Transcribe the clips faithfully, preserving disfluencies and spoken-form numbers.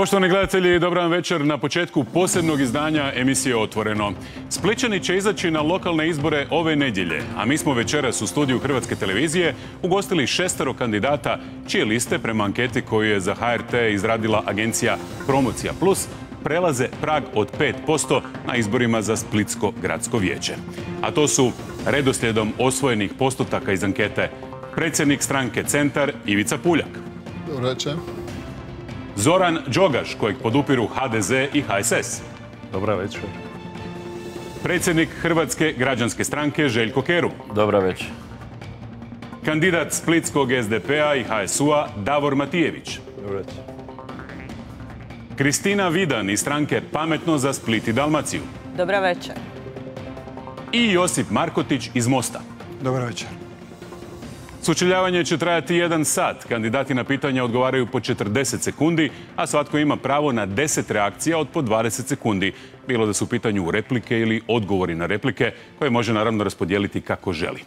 Poštovani gledatelji, dobar vam večer na početku posebnog izdanja emisije Otvoreno. Splićani će izaći na lokalne izbore ove nedjelje, a mi smo večeras u studiju Hrvatske televizije ugostili šestero kandidata čije liste prema anketi koju je za H R T izradila agencija Promocija Plus prelaze prag od pet posto na izborima za Splitsko gradsko vijeće. A to su redoslijedom osvojenih postotaka iz ankete predsjednik stranke Centar Ivica Puljak. Dobro večer. Zoran Đogaš, kojeg podupiru H D Z i H S S. Dobra večer. Predsjednik Hrvatske građanske stranke Željko Kerum. Dobra večer. Kandidat Splitskog S D P-a i H S U-a Davor Matijević. Dobra večer. Kristina Vidan iz stranke Pametno za Split i Dalmaciju. Dobra večer. I Josip Markotić iz Mosta. Dobro večer. Sučeljavanje će trajati jedan sat. Kandidati na pitanja odgovaraju po četrdeset sekundi, a svatko ima pravo na deset reakcija od po dvadeset sekundi. Bilo da su u pitanju replike ili odgovori na replike, koje može naravno raspodijeliti kako želi.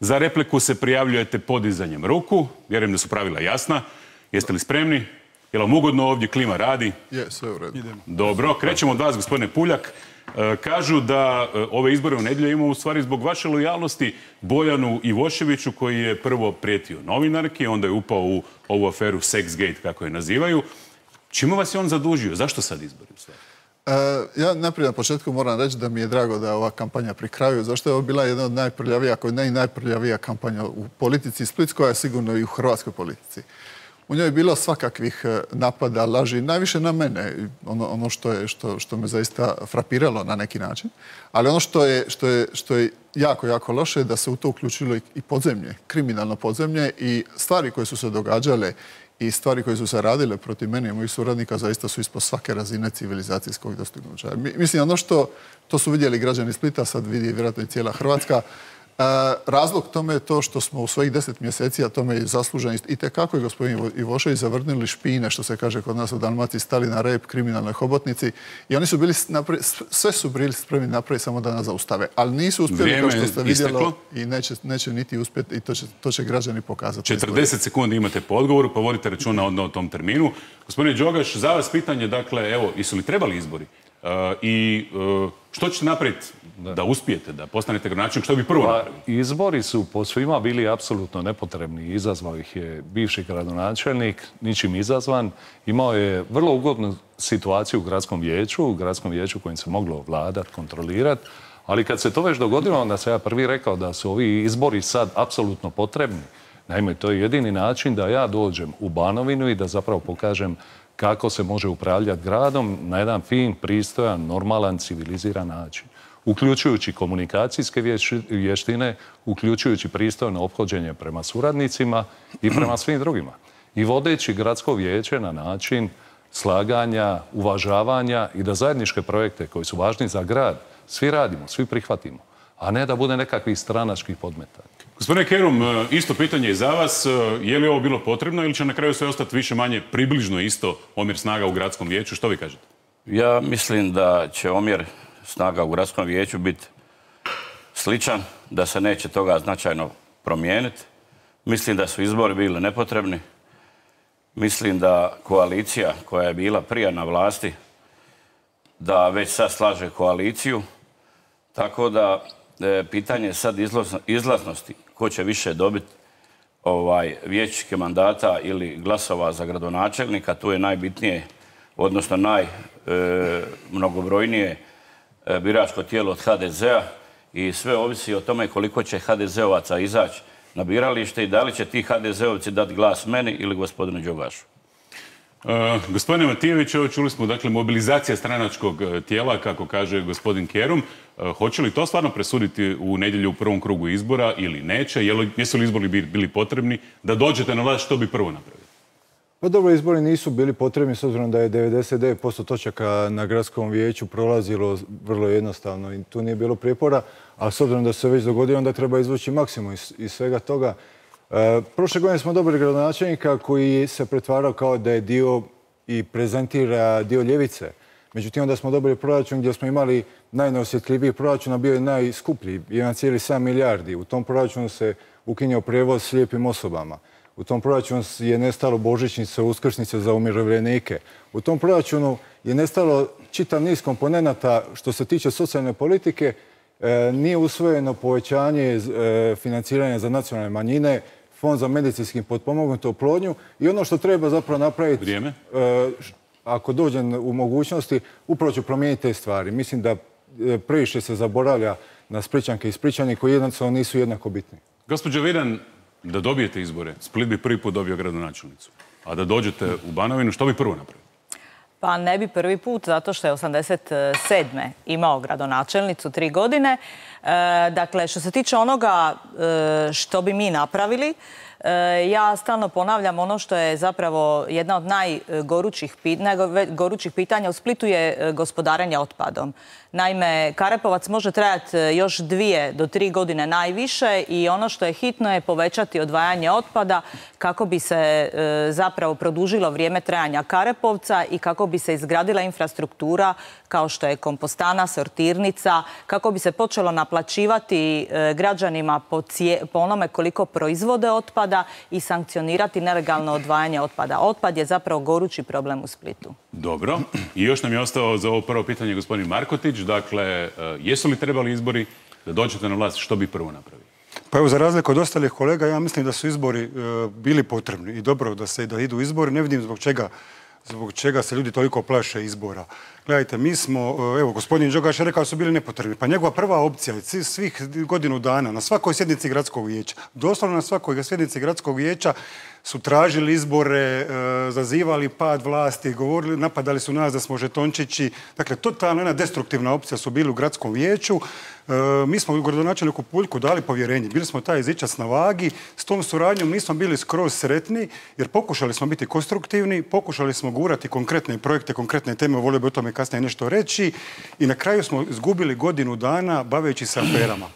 Za repliku se prijavljujete podizanjem ruku. Vjerujem da su pravila jasna. Jeste li spremni? Je li vam ugodno ovdje, klima radi? Je, sve u redu. Dobro, krećemo od vas, gospodine Puljak. Kažu da ove izbore u nedjelju imamo u stvari zbog vaše lojalnosti Bojanu Ivoševiću, koji je prvo prijetio novinarki, onda je upao u ovu aferu Sexgate, kako je nazivaju. Čime vas je on zadužio? Zašto sad izbori u stvari? E, ja najprije na početku moram reći da mi je drago da je ova kampanja pri kraju, zašto je ovo bila jedna od najprljavija, ako ne i najprljavija kampanja u politici Splitskoj, a sigurno i u hrvatskoj politici. U njoj je bilo svakakvih napada, laži, najviše na mene, ono, ono što, je, što, što me zaista frapiralo na neki način. Ali ono što je, što je, što je jako, jako loše je da se u to uključilo i podzemlje, kriminalno podzemlje i stvari koje su se događale i stvari koje su se radile protiv mene i mojih suradnika zaista su ispod svake razine civilizacijskog dostignuća. Mislim, ono što to su vidjeli građani Splita, sad vidi vjerojatno i cijela Hrvatska. Uh, razlog tome je to što smo u svojih deset mjeseci, a tome je zaslužen i tekako je gospodin Ivošević zavrnuli špine, što se kaže kod nas u Dalmaciji, stali na rep kriminalnoj hobotnici i oni su bili, napri, sve su bili spremni napraviti samo da nas zaustave. Ali nisu uspjeli, Vrijeme kao što ste vidjelo, isteklo. I neće, neće niti uspjeti i to će, to će građani pokazati. četrdeset sekundi imate po odgovoru, pa vodite računa onda o tom terminu. Gospodine Đogaš, za vas pitanje, dakle, evo, jesu li trebali izbori? Uh, I uh, što ćete napraviti da. da uspijete, da postanete gradonačelnik, što bi prvo pa, napravili? Izbori su po svima bili apsolutno nepotrebni. Izazvao ih je bivši gradonačelnik, ničim izazvan. Imao je vrlo ugodnu situaciju u gradskom vijeću, u gradskom vijeću kojim se moglo vladati, kontrolirati. Ali kad se to već dogodilo, onda se ja prvi rekao da su ovi izbori sad apsolutno potrebni. Naime, to je jedini način da ja dođem u Banovinu i da zapravo pokažem kako se može upravljati gradom na jedan fin, pristojan, normalan, civiliziran način. Uključujući komunikacijske vještine, uključujući pristojno ophođenje prema suradnicima i prema svim drugima. I vodeći gradsko vijeće na način slaganja, uvažavanja i da zajedničke projekte koji su važni za grad svi radimo, svi prihvatimo, a ne da bude nekakvih stranačkih podmetanja. Gospodine Kerum, isto pitanje i za vas. Je li ovo bilo potrebno ili će na kraju sve ostati više manje približno isto omjer snaga u gradskom vijeću? Što vi kažete? Ja mislim da će omjer snaga u gradskom vijeću biti sličan, da se neće toga značajno promijeniti. Mislim da su izbori bili nepotrebni. Mislim da koalicija koja je bila prije na vlasti, da već sad slaže koaliciju. Tako da e, pitanje je sad izlaznosti. Ko će više dobiti ovaj, vijećničke mandata ili glasova za gradonačelnika, tu je najbitnije, odnosno najmnogobrojnije e, biračko tijelo od H D Z-a i sve ovisi o tome koliko će H D Z-ovaca izaći na biralište i da li će ti H D Z-ovci dati glas meni ili gospodinu Đogašu. Uh, gospodine Matijević, čuli smo, dakle, mobilizacija stranačkog tijela, kako kaže gospodin Kerum. Uh, hoće li to stvarno presuditi u nedjelju u prvom krugu izbora ili neće? Jel, jesu li izbori bili potrebni? Da dođete na vlast, što bi prvo napravili? Pa dobro, izbori nisu bili potrebni s obzirom da je devedeset devet posto točaka na gradskom vijeću prolazilo vrlo jednostavno i tu nije bilo prijepora, a s obzirom da se već dogodilo, onda treba izvući maksimum iz, iz svega toga. E, prošle godine smo dobili gradonačelnika koji se pretvarao kao da je dio i prezentira dio ljevice. Međutim, onda smo dobili proračun gdje smo imali najneosjetljiviji proračun, a bio je najskuplji, jedan zarez sedam milijardi. U tom proračunu se ukinuo prijevoz slijepim osobama. U tom proračunu je nestalo božićnice, uskrsnice za umirovljenike. U tom proračunu je nestalo čitav niz komponenata što se tiče socijalne politike. E, nije usvojeno povećanje e, financiranja za nacionalne manjine, fond za medicinski potpomognutu oplodnju i ono što treba zapravo napraviti, Vrijeme. E, ako dođem u mogućnosti, upravo ću promijeniti te stvari. Mislim da e, previše se zaboravlja na Splićanke i Splićani koji jednostavno nisu jednako bitni. Gospođo Vidan, da dobijete izbore, Split bi prvi put dobio gradonačelnicu. A da dođete u Banovinu, što bi prvo napravili? Pa ne bi prvi put, zato što je osamdeset sedme imao gradonačelnicu tri godine. E, dakle, što se tiče onoga e, što bi mi napravili, e, ja stalno ponavljam ono što je zapravo jedna od najgorućih, najgorućih pitanja u Splitu je gospodarenje otpadom. Naime, Karepovac može trajati još dvije do tri godine najviše i ono što je hitno je povećati odvajanje otpada kako bi se e, zapravo produžilo vrijeme trajanja Karepovca i kako bi se izgradila infrastruktura kao što je kompostana, sortirnica, kako bi se počelo naplaćivati e, građanima po, cije, po onome koliko proizvode otpada i sankcionirati nelegalno odvajanje otpada. Otpad je zapravo gorući problem u Splitu. Dobro. I još nam je ostao za ovo prvo pitanje gospodin Markotić. Dakle, jesu li trebali izbori da dođete na vlast, što bi prvo napravili? Pa evo, za razliku od ostalih kolega, ja mislim da su izbori e, bili potrebni i dobro da se da idu izbori. Ne vidim zbog čega, zbog čega se ljudi toliko plaše izbora. Gledajte, mi smo, evo, gospodin Đogaš je rekao da su bili nepotrebni. Pa njegova prva opcija je svih godinu dana na svakoj sjednici gradskog vijeća, doslovno na svakoj sjednici gradskog vijeća su tražili izbore, e, zazivali pad vlasti, govorili, napadali su nas da smo žetončići. Dakle, totalna jedna destruktivna opcija su bili u gradskom vijeću. E, mi smo u gradonačelniku Puljku dali povjerenje. Bili smo taj zičac na vagi. S tom suradnjom nismo bili skroz sretni, jer pokušali smo biti konstruktivni, pokušali smo gurati konkretne projekte, konkretne teme, volio bi o tome kasnije nešto reći. I na kraju smo izgubili godinu dana baveći se aferama.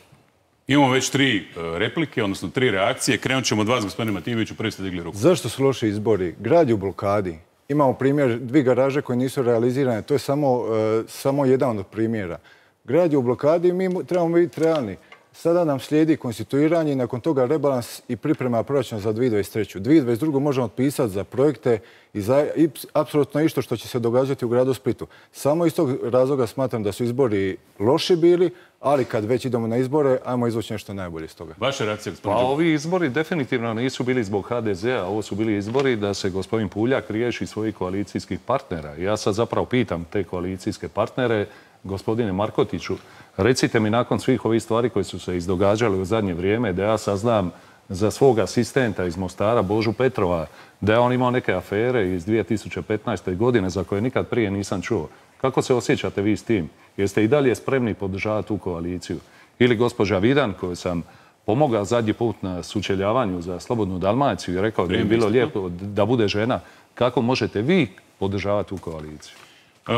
Imamo već tri replike, odnosno tri reakcije. Krenut ćemo od vas, gospodine Matijeviću, prvi ste digli ruku. Zašto su loši izbori? Grad je u blokadi. Imamo primjer dvije garaže koje nisu realizirane. To je samo, uh, samo jedan od primjera. Grad je u blokadi i mi trebamo biti realni. Sada nam slijedi konstituiranje i nakon toga rebalans i priprema proračuna za dvije tisuće dvadeset treću. dvije tisuće dvadeset drugu možemo otpisati za projekte i za i, apsolutno isto što će se događati u gradu Splitu. Samo iz tog razloga smatram da su izbori loši bili, ali kad već idemo na izbore, ajmo izvući nešto najbolje iz toga. Vaša reakcija, gospodin? Pa ovi izbori definitivno nisu bili zbog ha de zea, ovo su bili izbori da se gospodin Puljak riješi svojih koalicijskih partnera. Ja sad zapravo pitam te koalicijske partnere, gospodine Markotiću, recite mi nakon svih ovih stvari koje su se izdogađale u zadnje vrijeme, da ja saznam za svog asistenta iz Mostara, Božu Petrova, da je on imao neke afere iz dvije tisuće petnaeste. godine za koje nikad prije nisam čuo. Kako se osjećate vi s tim? Jeste i dalje spremni podržavati tu koaliciju? Ili gospođa Vidan, koju sam pomogao zadnji put na sučeljavanju za Slobodnu Dalmaciju i rekao da je bilo lijepo da bude žena. Kako možete vi podržavati tu koaliciju?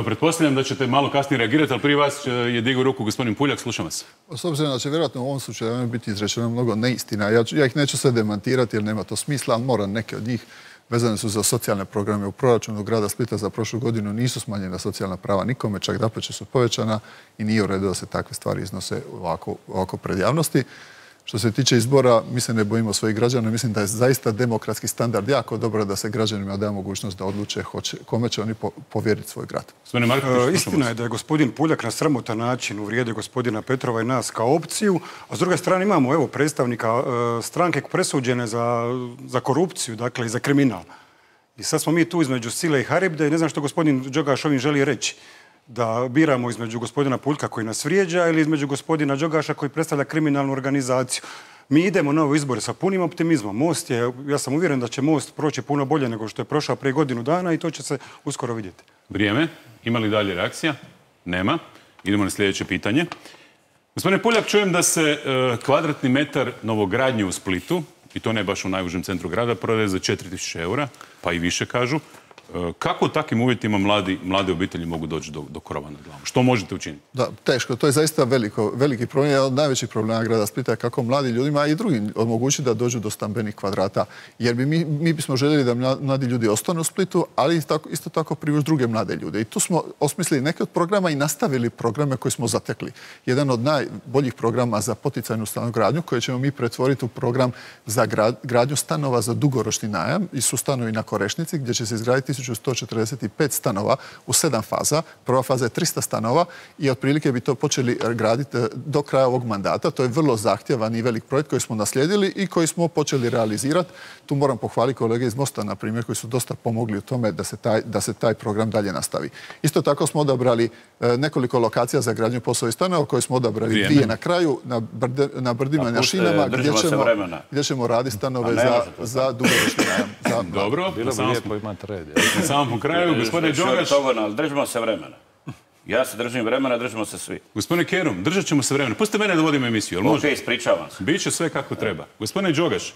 Pretpostavljam da ćete malo kasnije reagirati, ali prije vas je digao ruku gospodin Puljak, slušam vas. S obzirom da će vjerojatno u ovom slučaju biti izrečeno mnogo neistina, ja, ja ih neću sve demantirati jer nema to smisla, ali moram neke od njih vezane su za socijalne programe u proračunu grada Splita za prošlu godinu nisu smanjena socijalna prava nikome, čak dapače su povećana i nije u redu da se takve stvari iznose ovako, ovako pred javnosti. Što se tiče izbora, mi se ne bojimo svojih građana, mislim da je zaista demokratski standard jako dobro da se građanima da mogućnost da odluče hoće, kome će oni povjeriti svoj grad. E, istina je da je gospodin Puljak na sramotan način uvrijedio gospodina Petrova i nas kao opciju, a s druge strane imamo evo predstavnika e, stranke presuđene za, za korupciju, dakle i za kriminal. I sad smo mi tu između sile i haribde i ne znam što gospodin Đogaš ovim želi reći. Da biramo između gospodina Puljka koji nas vrijeđa ili između gospodina Đogaša koji predstavlja kriminalnu organizaciju. Mi idemo na ove izbore sa punim optimizmom. Most je, ja sam uvjeren da će Most proći puno bolje nego što je prošao prije godinu dana i to će se uskoro vidjeti. Vrijeme. Ima li dalje reakcija? Nema. Idemo na sljedeće pitanje. Gospodine Puljak, čujem da se e, kvadratni metar novogradnje u Splitu, i to ne baš u najužem centru grada, prodaje za četiri tisuće eura, pa i više kažu. Kako u takvim uvjetima mladi, mlade obitelji mogu doći do, do krova nad glavom? Što možete učiniti? Da, teško. To je zaista veliko, veliki problem. Jedan od najvećih problema grada Splita je kako mladi ljudima i drugim omogućiti da dođu do stambenih kvadrata. Jer bi mi, mi bismo željeli da mladi ljudi ostanu u Splitu, ali isto tako, isto tako privući druge mlade ljude. I tu smo osmislili neke od programa i nastavili programe koje smo zatekli. Jedan od najboljih programa za poticajnu stanogradnju koje ćemo mi pretvoriti u program za gradnju stanova za dugoročni najam i su stanovi na Korešnici gdje će se izgraditi tisuću sto četrdeset pet stanova u sedam faza. Prva faza je tristo stanova i otprilike bi to počeli graditi do kraja ovog mandata. To je vrlo zahtjevan i velik projekt koji smo naslijedili i koji smo počeli realizirati. Tu moram pohvaliti kolege iz Mosta, na primjer, koji su dosta pomogli u tome da se taj, da se taj program dalje nastavi. Isto tako smo odabrali nekoliko lokacija za gradnju POS-ovih stanova koje smo odabrali Vrijeme. dvije na kraju, na, brde, na brdima i na šinama, gdje ćemo, gdje ćemo raditi stanove za, za dugoročni najam. Za... Dobro, bilo bi lijepo imati red. Na samom kraju, gospodine Đogaš... Držimo se vremena. Ja se držim vremena, držimo se svi. Gospodine Kerum, držat ćemo se vremena. Pustite mene da vodim emisiju. Ok, ispričavam se. Biće sve kako treba. Gospodine Đogaš,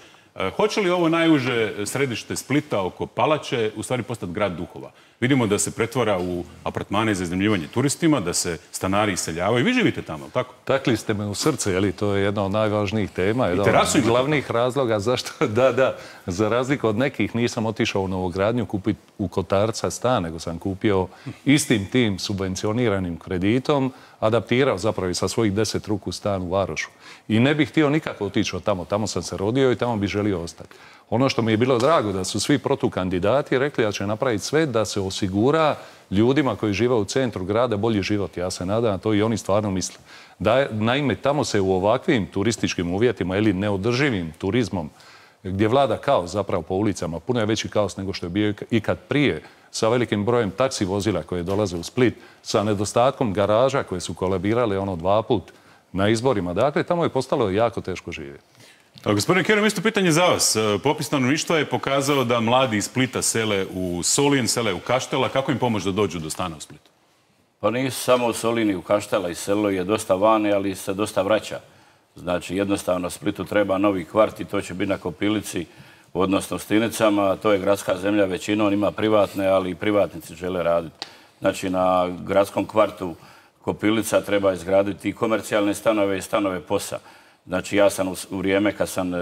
hoće li ovo najuže središte Splita oko Palače u stvari postati grad duhova? Vidimo da se pretvara u apartmane za iznajmljivanje turistima, da se stanari iseljavaju. Vi živite tamo, tako? Takli ste me u srce, je li? To je jedna od najvažnijih tema. Jedan od glavnih razloga zašto, da, da, za razliku od nekih nisam otišao u novogradnju kupiti u Kotarca stan, nego sam kupio istim tim subvencioniranim kreditom, adaptirao zapravo i sa svojih deset ruku stan u Varošu. I ne bih htio nikako otići od tamo. Tamo sam se rodio i tamo bih želio ostati. Ono što mi je bilo drago da su svi protukandidati rekli da će napraviti sve da se osigura ljudima koji žive u centru grada bolji život. Ja se nadam, to i oni stvarno misle. Da, naime, tamo se u ovakvim turističkim uvjetima ili neodrživim turizmom gdje vlada kaos zapravo po ulicama, puno je veći kaos nego što je bio ikad prije, sa velikim brojem taksi vozila koje dolaze u Split, sa nedostatkom garaža koje su kolabirale ono dva put na izborima. Dakle, tamo je postalo jako teško živjeti. Gospodine Kerum, isto pitanje za vas. Popis stanovništva je pokazao da mladi iz Splita sele u Solin, sele u Kaštela. Kako im pomoći da dođu do stana u Splitu? Pa nisu samo u Solini, u Kaštela i selo je dosta vani, ali se dosta vraća. Znači, jednostavno Splitu treba novi kvart i to će biti na Kopilici, odnosno Stinicama. To je gradska zemlja, većinom ima privatne, ali i privatnici žele raditi. Znači, na gradskom kvartu Kopilica treba izgraditi i komercijalne stanove i stanove POS-a. Znači, ja sam u vrijeme kad sam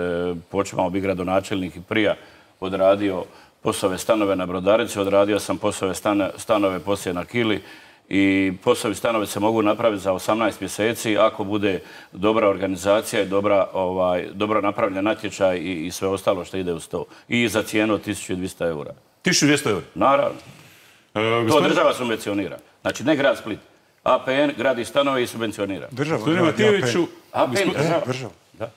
počeo biti gradonačelnik i prija odradio POS-ove stanove na Brodarici, odradio sam POS-ove stanove poslije na Kili i POS-ovi stanovi se mogu napraviti za osamnaest mjeseci ako bude dobra organizacija i dobra, ovaj, dobro napravljen natječaj i, i sve ostalo što ide uz to. I za cijenu od tisuću dvjesto eura. tisuću dvjesto eura? Naravno. E, gospodin... To država subvencionira. Znači, ne grad Split. A P N gradi stanove i subvencionira. Država. Gospodine Matijeviću, A P N država. Država. Da.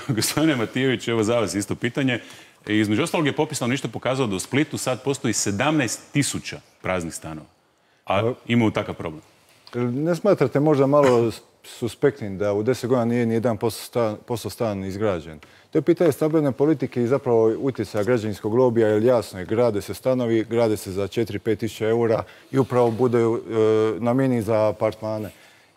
Gospodine Matijević, evo za vas isto pitanje. E, između ostalog je popis stanovništva pokazao da u Splitu sad postoji sedamnaest tisuća praznih stanova. A imaju takav problem. Ne smatrate možda malo suspektnim da u deset godina nije ni jedan posto stan izgrađen? To je pitanje stambene politike i zapravo utjecaja građevinskog lobija, jer jasno je, grade se stanovi, grade se za četiri do pet tisuća eura i upravo bude e, namijenjeni za apartmane.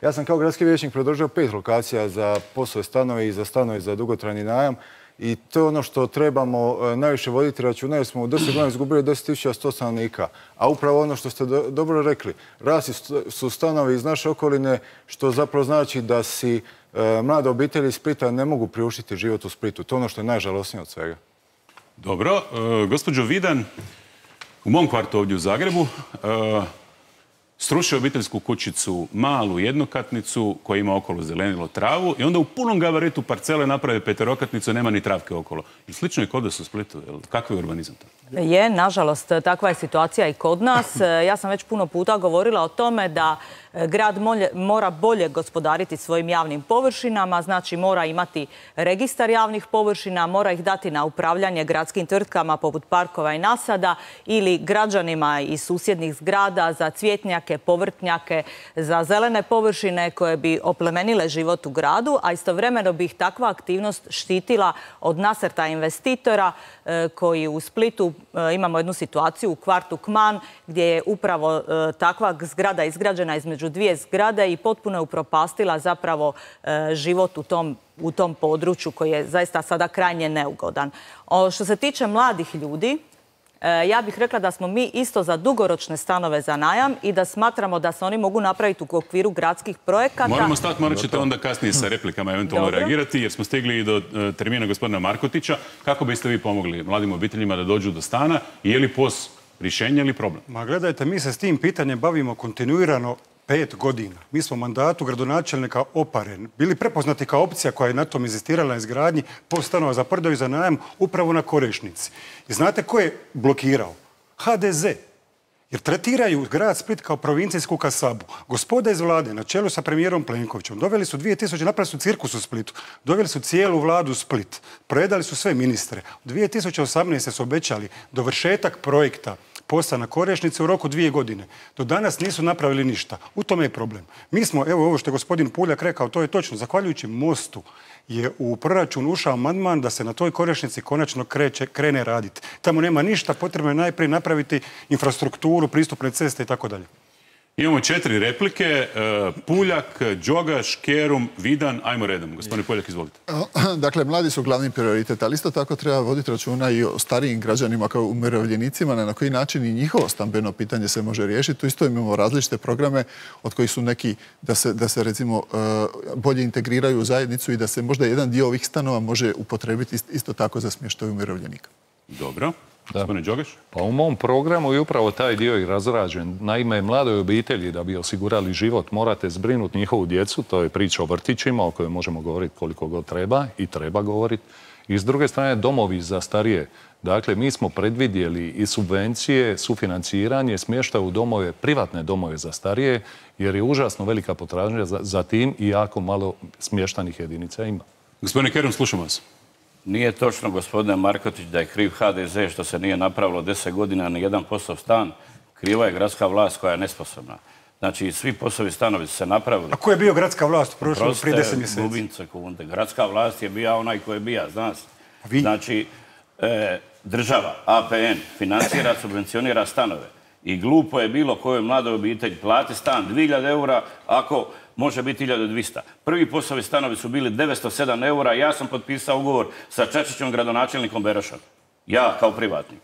Ja sam kao gradski vijećnik predložio pet lokacija za POS-ove stanove i za stanove za dugotrajni najam i to je ono što trebamo e, najviše voditi računa, jer smo u deset godina izgubili deset tisuća sto stanovnika. A upravo ono što ste do, dobro rekli, rasli su stanovi iz naše okoline, što zapravo znači da si e, mlade obitelji iz Splita ne mogu priuštiti život u Splitu. To je ono što je najžalosnije od svega. Dobro. E, gospođo Vidan, u mom kvartu ovdje u Zagrebu e, srušio obiteljsku kućicu, malu jednokatnicu koja ima okolo zelenilo travu i onda u punom gabaritu parcele naprave peterokatnicu i nema ni travke okolo. I slično je kod vas u Splitu. Kakvi je urbanizam to? Je, nažalost, takva je situacija i kod nas. Ja sam već puno puta govorila o tome da grad mora bolje gospodariti svojim javnim površinama, znači mora imati registar javnih površina, mora ih dati na upravljanje gradskim tvrtkama poput parkova i nasada ili građanima iz susjednih zgrada za cvjetnjake, povrtnjake, za zelene površine koje bi oplemenile život u gradu, a istovremeno bi ih takva aktivnost štitila od nasrta investitora koji u Splitu imamo jednu situaciju u kvartu Kman gdje je upravo takva zgrada izgrađena između dvije zgrade i potpuno je upropastila zapravo život u tom, u tom području koji je zaista sada krajnje neugodan. O, što se tiče mladih ljudi, Ja bih rekla da smo mi isto za dugoročne stanove za najam i da smatramo da se oni mogu napraviti u okviru gradskih projekata. Moramo stati, morat ćete onda kasnije sa replikama eventualno reagirati, jer smo stigli i do termina gospodina Markotića. Kako biste vi pomogli mladim obiteljima da dođu do stana? Je li P O S rješenje ili problem? Ma gledajte, mi se s tim pitanjem bavimo kontinuirano pet godina. Mi smo u mandatu gradonačelnika Opare bili prepoznati kao opcija koja je na tom inzistirala na izgradnji P O S stanova za prodaju za najam upravo na Korešnici. I znate ko je blokirao? H D Z. Jer tretiraju grad Split kao provincijsku kasabu. Gospoda iz vlade, na čelu sa premijerom Plenkovićem, doveli su dvije tisuće, napravili su cirkus u Splitu, doveli su cijelu vladu u Split, predali su sve ministre. U dvije tisuće osamnaeste su obećali dovršetak projekta P O S-a na Korešnici u roku dvije godine. Do danas nisu napravili ništa. U tome je problem. Mi smo, evo ovo što je gospodin Puljak rekao, to je točno, zahvaljujući mostu je u proračun ušao amandman da se na toj Korešnici konačno kreće, krene raditi. Tamo nema ništa, potrebno je najprije napraviti infrastrukturu, pristupne ceste i tako dalje. Imamo četiri replike. Puljak, Đogaš, Kerum, Vidan. Ajmo redom. Gospodine Puljak, izvolite. Dakle, mladi su glavni prioritet, ali isto tako treba voditi računa i o starijim građanima kao umirovljenicima, na koji način i njihovo stambeno pitanje se može riješiti. Tu isto imamo različite programe od kojih su neki da se, da se recimo bolje integriraju u zajednicu i da se možda jedan dio ovih stanova može upotrebiti isto tako za smještaj umirovljenika. Dobro. Gospodine Đogaš? Pa u mom programu je upravo taj dio i razrađen. Naime, mladoj obitelji da bi osigurali život morate zbrinuti njihovu djecu, to je priča o vrtićima o kojoj možemo govoriti koliko god treba i treba govoriti. I s druge strane domovi za starije. Dakle, mi smo predvidjeli i subvencije, sufinanciranje, smještaj u domove, privatne domove za starije, jer je užasno velika potražnja za, za tim i jako malo smještajnih jedinica ima. Gospodine Kerum, slušamo vas. Nije točno, gospodine Markotić, da je kriv H D Z što se nije napravilo deset godina na jedan posao stan. Kriva je gradska vlast koja je nesposobna. Znači, svi poslovi stanovi su se napravili. A ko je bio gradska vlast u prošlom prije deset mjeseci? Gubim sekunde. Gradska vlast je bio onaj koji je bija, zna se. Znači, e, država, A P N, financira, subvencionira stanove. I glupo je bilo kojoj mladoj obitelji plati stan dvije hiljade eura ako može biti hiljadu dvjesto. Prvi poslovi stanovi su bili devetsto sedam eura. Ja sam potpisao ugovor sa Čačićem, gradonačelnikom Berošom. Ja kao privatnik.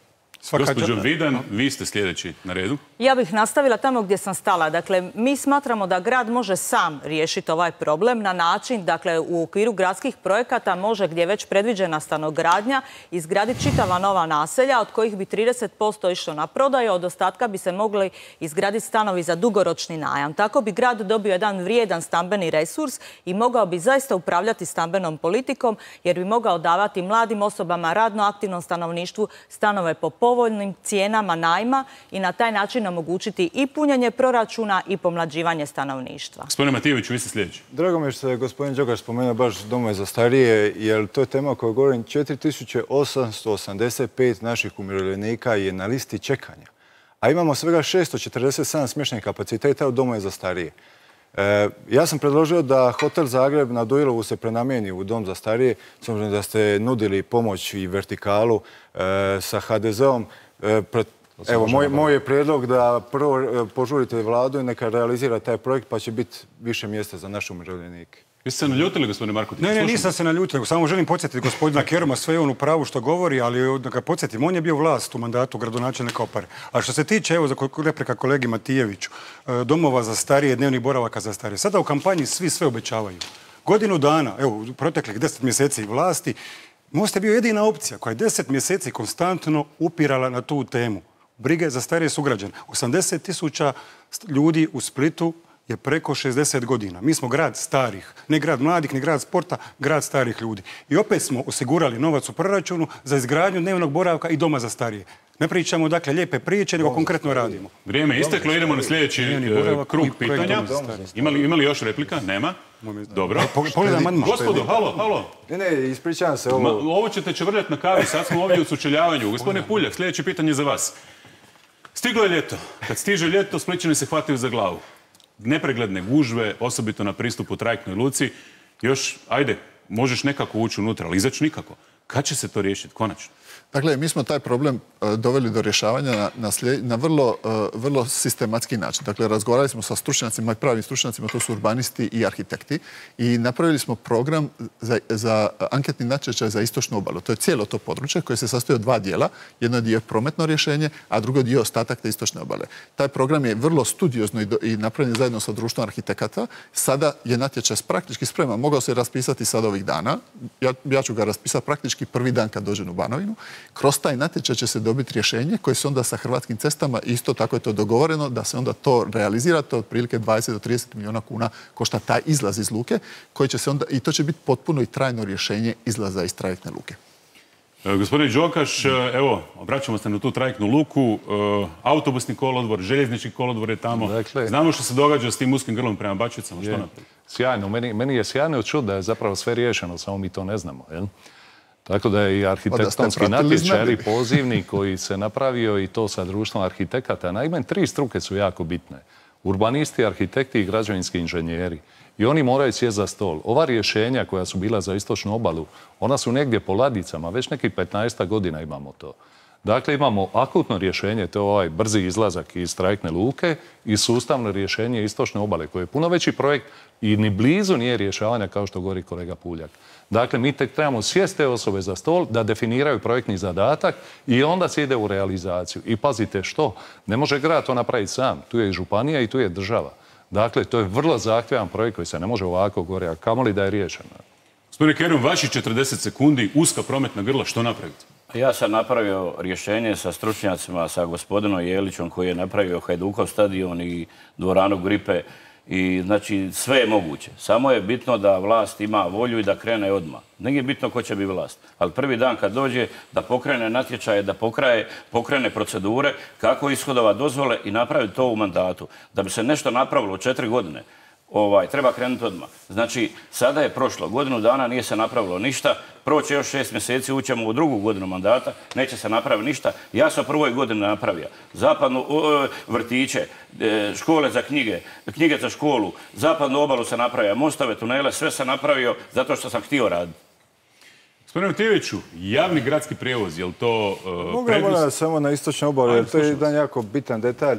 Gospođo Vidan, vi ste sljedeći na redu. Ja bih nastavila tamo gdje sam stala. Dakle, mi smatramo da grad može sam riješiti ovaj problem na način, dakle, u okviru gradskih projekata može, gdje je već predviđena stanogradnja, izgraditi čitava nova naselja, od kojih bi trideset posto išlo na prodaju, od ostatka bi se mogli izgraditi stanovi za dugoročni najam. Tako bi grad dobio jedan vrijedan stambeni resurs i mogao bi zaista upravljati stambenom politikom, jer bi mogao davati mladim osobama, radno aktivnom stanovništvu stanove po povoljnim cijenama najma i na taj način omogućiti i punjenje proračuna i pomlađivanje stanovništva. Gospodine Matijeviću, vi ste sljedeći. Drago mi je što je gospodin Đogaš spomenuo baš domove za starije, jer to je tema o kojoj govorim. četiri tisuće osamsto osamdeset pet naših umirovljenika je na listi čekanja, a imamo svega šesto četrdeset sedam smještajnih kapaciteta u domove za starije. E, ja sam predložio da Hotel Zagreb na Duilovu se prenamijeni u dom za starije, s obzirom da ste nudili pomoć i vertikalu e, sa H D Z-om. E, evo, moj, moj je prijedlog da prvo e, požurite vladu i neka realizira taj projekt, pa će biti više mjesta za naše umirovljenike. Vi ste se naljutili, gospodine Markotić? Ne, ne, nisam se naljutio. Samo želim podsjetiti gospodina Keruma, sve je on u pravu što govori, ali da ga podsjetim, on je bio vlast u mandatu gradonačelnika Opare. A što se tiče, evo, za replika kolegi Matijeviću, domova za starije, dnevnih boravaka za starije. Sada u kampanji svi sve obećavaju. Godinu dana, evo, u proteklih deset mjeseci vlasti, Most je bio jedina opcija koja je deset mjeseci konstantno upirala na tu temu. Brige za starije sugrađane. osamdeset tisuća ljudi u Splitu je preko šezdeset godina. Mi smo grad starih, ne grad mladih, ne grad sporta, grad starih ljudi. I opet smo osigurali novac u proračunu za izgradnju dnevnog boravka i doma za starije. Ne pričamo, dakle, lijepe priče, nego konkretno radimo. Vrijeme je isteklo, idemo na sljedeći krug pitanja. Imali, imali još replika? Nema? Dobro. Pogledaj amandman. Gospodo, halo, halo. Ne, ne, ispričavam se. Ovo, ovo ćete čevrljati na kavi, sad smo ovdje u sučeljavanju. Gospodine Puljak, sljedeće pitanje za vas. Stiglo je ljeto. Kad stiže ljeto, Splićani se hvataju za glavu. Nepregledne gužve, osobito na pristupu trajektnoj luci. Još, ajde, možeš nekako ući unutra, ali izaći nikako. Kad će se to riješiti, konačno? Dakle, mi smo taj problem uh, doveli do rješavanja na, na, slijed, na vrlo, uh, vrlo sistematski način. Dakle, razgovarali smo sa stručnjacima i pravim stručnjacima, to su urbanisti i arhitekti, i napravili smo program za, za anketni natječaj za istočnu obalu. To je cijelo to područje koje se sastoji od dva dijela. Jedno je dio prometno rješenje, a drugo dio ostatak te istočne obale. Taj program je vrlo studiozno i, do, i napravljen zajedno sa društvom arhitekata. Sada je natječaj praktički spreman. Mogao se raspisati sad ovih dana. Ja, ja ću ga raspisati praktički prvi dan kad dođem u Banovinu. Kroz taj natječaj će se dobiti rješenje koje se onda sa Hrvatskim cestama, isto tako je to dogovoreno, da se onda to realizira, to otprilike dvadeset do trideset milijuna kuna košta taj izlaz iz luke, koji će se onda, i to će biti potpuno i trajno rješenje izlaza iz trajektne luke. E, gospodine Đokaš, evo, obraćamo se na tu trajektnu luku, e, autobusni kolodvor, željeznički kolodvor je tamo. Dakle, znamo što se događa s tim uskim grlom prema Bačvicama, što napraviti? Sjajno, meni, meni je sjajno čuti da je zapravo sve riješeno, samo mi to ne znamo, jel? Tako da je i arhitektonski natječaj pozivni koji se napravio i to sa društvom arhitekata. Naime, tri struke su jako bitne. Urbanisti, arhitekti i građevinski inženjeri. I oni moraju sjesti za stol. Ova rješenja koja su bila za istočnu obalu, ona su negdje po ladicama, već nekih petnaest godina imamo to. Dakle, imamo akutno rješenje, to je ovaj brzi izlazak iz trajektne luke, i sustavno rješenje istočne obale, koje je puno veći projekt i ni blizu nije rješavanja kao što govori kolega Puljak. Dakle, mi tek trebamo sjesti te osobe za stol da definiraju projektni zadatak i onda se ide u realizaciju. I pazite što, ne može grad to napraviti sam, tu je i županija i tu je država. Dakle, to je vrlo zahtjevan projekt koji se ne može ovako gore, a kamoli da je riješen. Gospodine Kerum, vaši četrdeset sekundi, uska prometna grla, što napraviti? Ja sam napravio rješenje sa stručnjacima, sa gospodinom Jelićom koji je napravio Hajdukov stadion i dvoranu Gripe. I znači sve je moguće. Samo je bitno da vlast ima volju i da krene odmah. Nije bitno ko će biti vlast. Ali prvi dan kad dođe da pokrene natječaje, da pokraje, pokrene procedure, kako ishodova dozvole i napravi to u mandatu. Da bi se nešto napravilo u četiri godine, ovaj, treba krenuti odmah. Znači, sada je prošlo. Godinu dana nije se napravilo ništa. Proće još šest mjeseci, ućemo u drugu godinu mandata, neće se napraviti ništa. Ja sam prvoj godini napravio zapadnu vrtiće, škole za knjige, knjige za školu, zapadnu obalu sam napravio, mostove, tunele, sve sam napravio zato što sam htio raditi. Gospodine Matijeviću, javni gradski prijevoz, je li to uh, Mogu prednost... samo na istočnoj obali, jer to je jedan jako bitan detalj.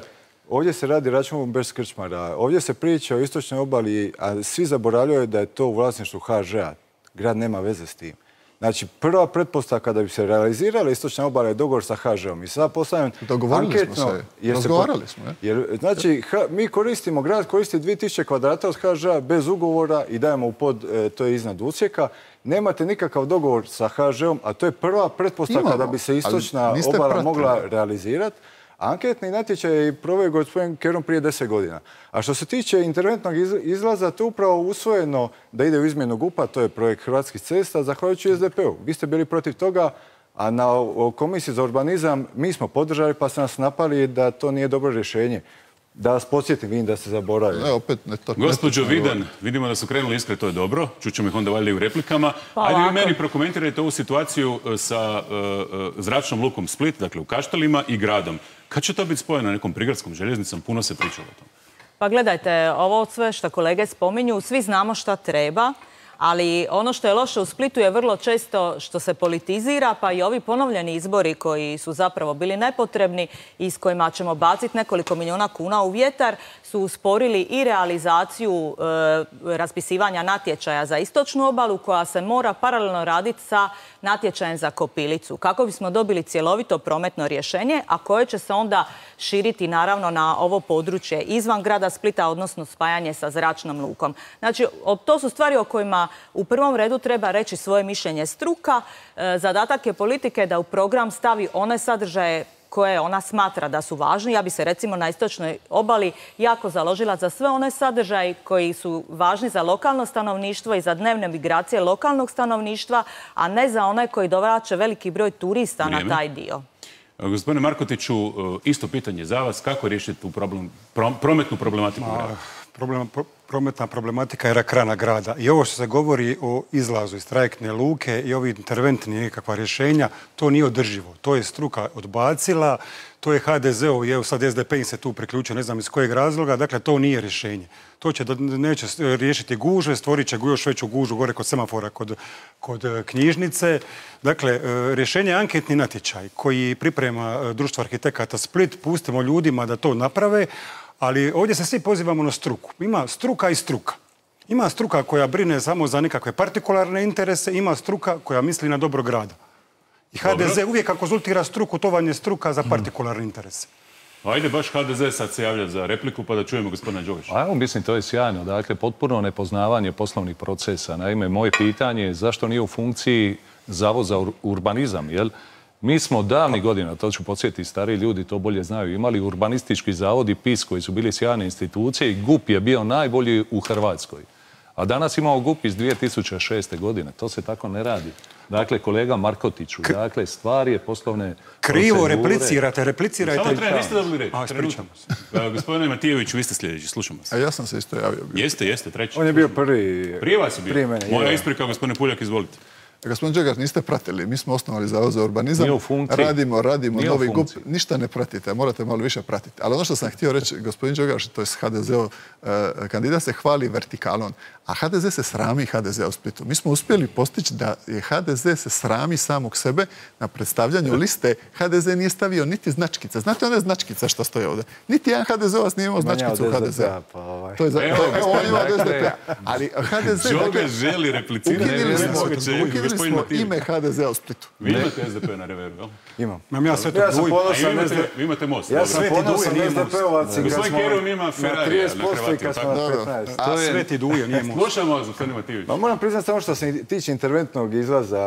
Ovdje se radi računom bez krčmara. Ovdje se priča o istočnoj obali, a svi zaboravljaju da je to u vlasništvu ha žea. Grad nema veze s tim. Znači, prva pretpostavka da bi se realizirala istočna obala je dogovor sa ha žeom. I sad postavljam anketno... Smo se. Razgovarali smo, je? Jer, znači, ha, mi koristimo, grad koristi dvije tisuće kvadrata od ha žea bez ugovora i dajemo u pod, e, to je iznad usjeka. Nemate nikakav dogovor sa ha žeom, a to je prva pretpostavka Imamo, da bi se istočna obala pratili. mogla realizirati. Anketni natječaj je proveo gospodin Kerum prije deset godina. A što se tiče interventnog izlaza, to je upravo usvojeno da ide u izmjenu G U P-a, to je projekt Hrvatskih cesta, zahvaljujući es de pe u. Vi ste bili protiv toga, a na Komisiji za urbanizam mi smo podržali pa ste nas napali da to nije dobro rješenje. Da vas podsjetim, vidim da se zaboravio. Ne, opet ne to. Gospođo Vidan, vidimo da su krenuli iskre, to je dobro. Čućemo ih onda valjda i u replikama. Pa, ajde vi meni prokomentirajte ovu situaciju sa uh, zračnom lukom Split, dakle u Kaštelima i gradom. Kad će to biti spojeno nekom prigradskom željeznicom? Puno se pričalo o tom. Pa gledajte, ovo sve što kolege spominju, svi znamo šta treba. Ali ono što je loše u Splitu je vrlo često što se politizira, pa i ovi ponovljeni izbori koji su zapravo bili nepotrebni i s kojima ćemo baciti nekoliko milijuna kuna u vjetar, su usporili i realizaciju e, raspisivanja natječaja za istočnu obalu, koja se mora paralelno raditi sa natječajem za Kopilicu, kako bismo dobili cjelovito prometno rješenje, a koje će se onda širiti naravno na ovo područje izvan grada Splita, odnosno spajanje sa zračnom lukom. Znači, to su stvari o kojima u prvom redu treba reći svoje mišljenje struka. Zadatak je politike da u program stavi one sadržaje koje ona smatra da su važni. Ja bi se recimo na istočnoj obali jako založila za sve one sadržaje koji su važni za lokalno stanovništvo i za dnevne migracije lokalnog stanovništva, a ne za one koji dovraće veliki broj turista Vrijeme. na taj dio. Gospodine Markotiću, isto pitanje za vas. Kako riješiti tu problem, prometnu problematiku grada? Problem, prometna problematika je rak rana grada. I ovo što se govori o izlazu iz trajektne luke i ovi interventni nekakva rješenja, to nije održivo. To je struka odbacila, to je ha de ze-ov, evo sad es de pe im se tu priključio, ne znam iz kojeg razloga, dakle to nije rješenje. To će, neće riješiti gužve, stvorit će još veću gužu gore kod semafora, kod, kod knjižnice. Dakle, rješenje je anketni natječaj koji priprema Društvo arhitekata Split, pustimo ljudima da to naprave, ali ovdje se svi pozivamo na struku. Ima struka i struka. Ima struka koja brine samo za nekakve partikularne interese, ima struka koja misli na dobro grada. I ha de ze uvijek ako konzultira struku, to vam je struka za partikularne interese. Ajde baš ha de ze sad se javlja za repliku pa da čujemo gospodina Đogaša. A evo, mislim, to je sjajno. Dakle, potpuno nepoznavanje poslovnih procesa. Naime, moje pitanje je zašto nije u funkciji Zavod za urbanizam, jel? Mi smo davnih godina, to ću podsjetiti, stariji ljudi to bolje znaju, imali urbanistički zavod i pe i es koji su bili sjajne institucije i ge u pe je bio najbolji u Hrvatskoj. A danas imamo ge u pe iz dvije tisuće šeste. godine. To se tako ne radi. Dakle, kolega Markotiću, dakle, stvar je poslovne Krivo procedure. replicirate, replicirajte. Samo treba, niste dobili reći. A, ispričamo se. Gospodine Matijeviću, vi ste sljedeći, slušamo se. A ja sam se isto javio. Bio. Jeste, jeste, treći. On je bio prvi... Prije vas je bio. Prije mene, Moja je. isprika, gospodine Puljak, izvolite. Gospodin Đogaš, niste pratili. Mi smo osnovali Zavod za urbanizam. Nije u funkciji. Radimo, radimo Nije u novi ge u pe. funkciji. Ništa ne pratite, morate malo više pratiti. Ali ono što sam htio reći, gospodin Đogaš, to je ha de ze-ov uh, kandidat, se hvali vertikalom. A ha de ze se srami ha de ze u Splitu. Mi smo uspjeli postići da je ha de ze se srami samog sebe na predstavljanju liste. ha de ze nije stavio niti značkica. Znate one značkice što stoje ovdje? Niti jedan ha de ze-ovac nije imao značkicu u ha de ze. Pa ovaj. To je za, Evo, to je, evo, on ima od es de dakle, pe. Ali ha de ze... Đogaš želi replicirati. Ukinuli smo, Moguće, ukinuli gospodin smo Matijević. ime ha de ze u Splitu. Vi imate es de pe na reveru, jel? Imam. Imam ja sve to Ja sam duj. A i vi ponosan imate, es de pe. vi imate most. Ja dobro. sam Sveti ponosan Duje nije es de pe-ovac i kad Gospodin smo Kerum ima na Ferrarija trideset na posto i Hrvatiju, kad smo tako? na Da, da. petnaest. To je- Sveti Duje nije most. Slušamo vas, gospodine Matijević. Ma moram priznati samo što se tiče interventnog izlaza,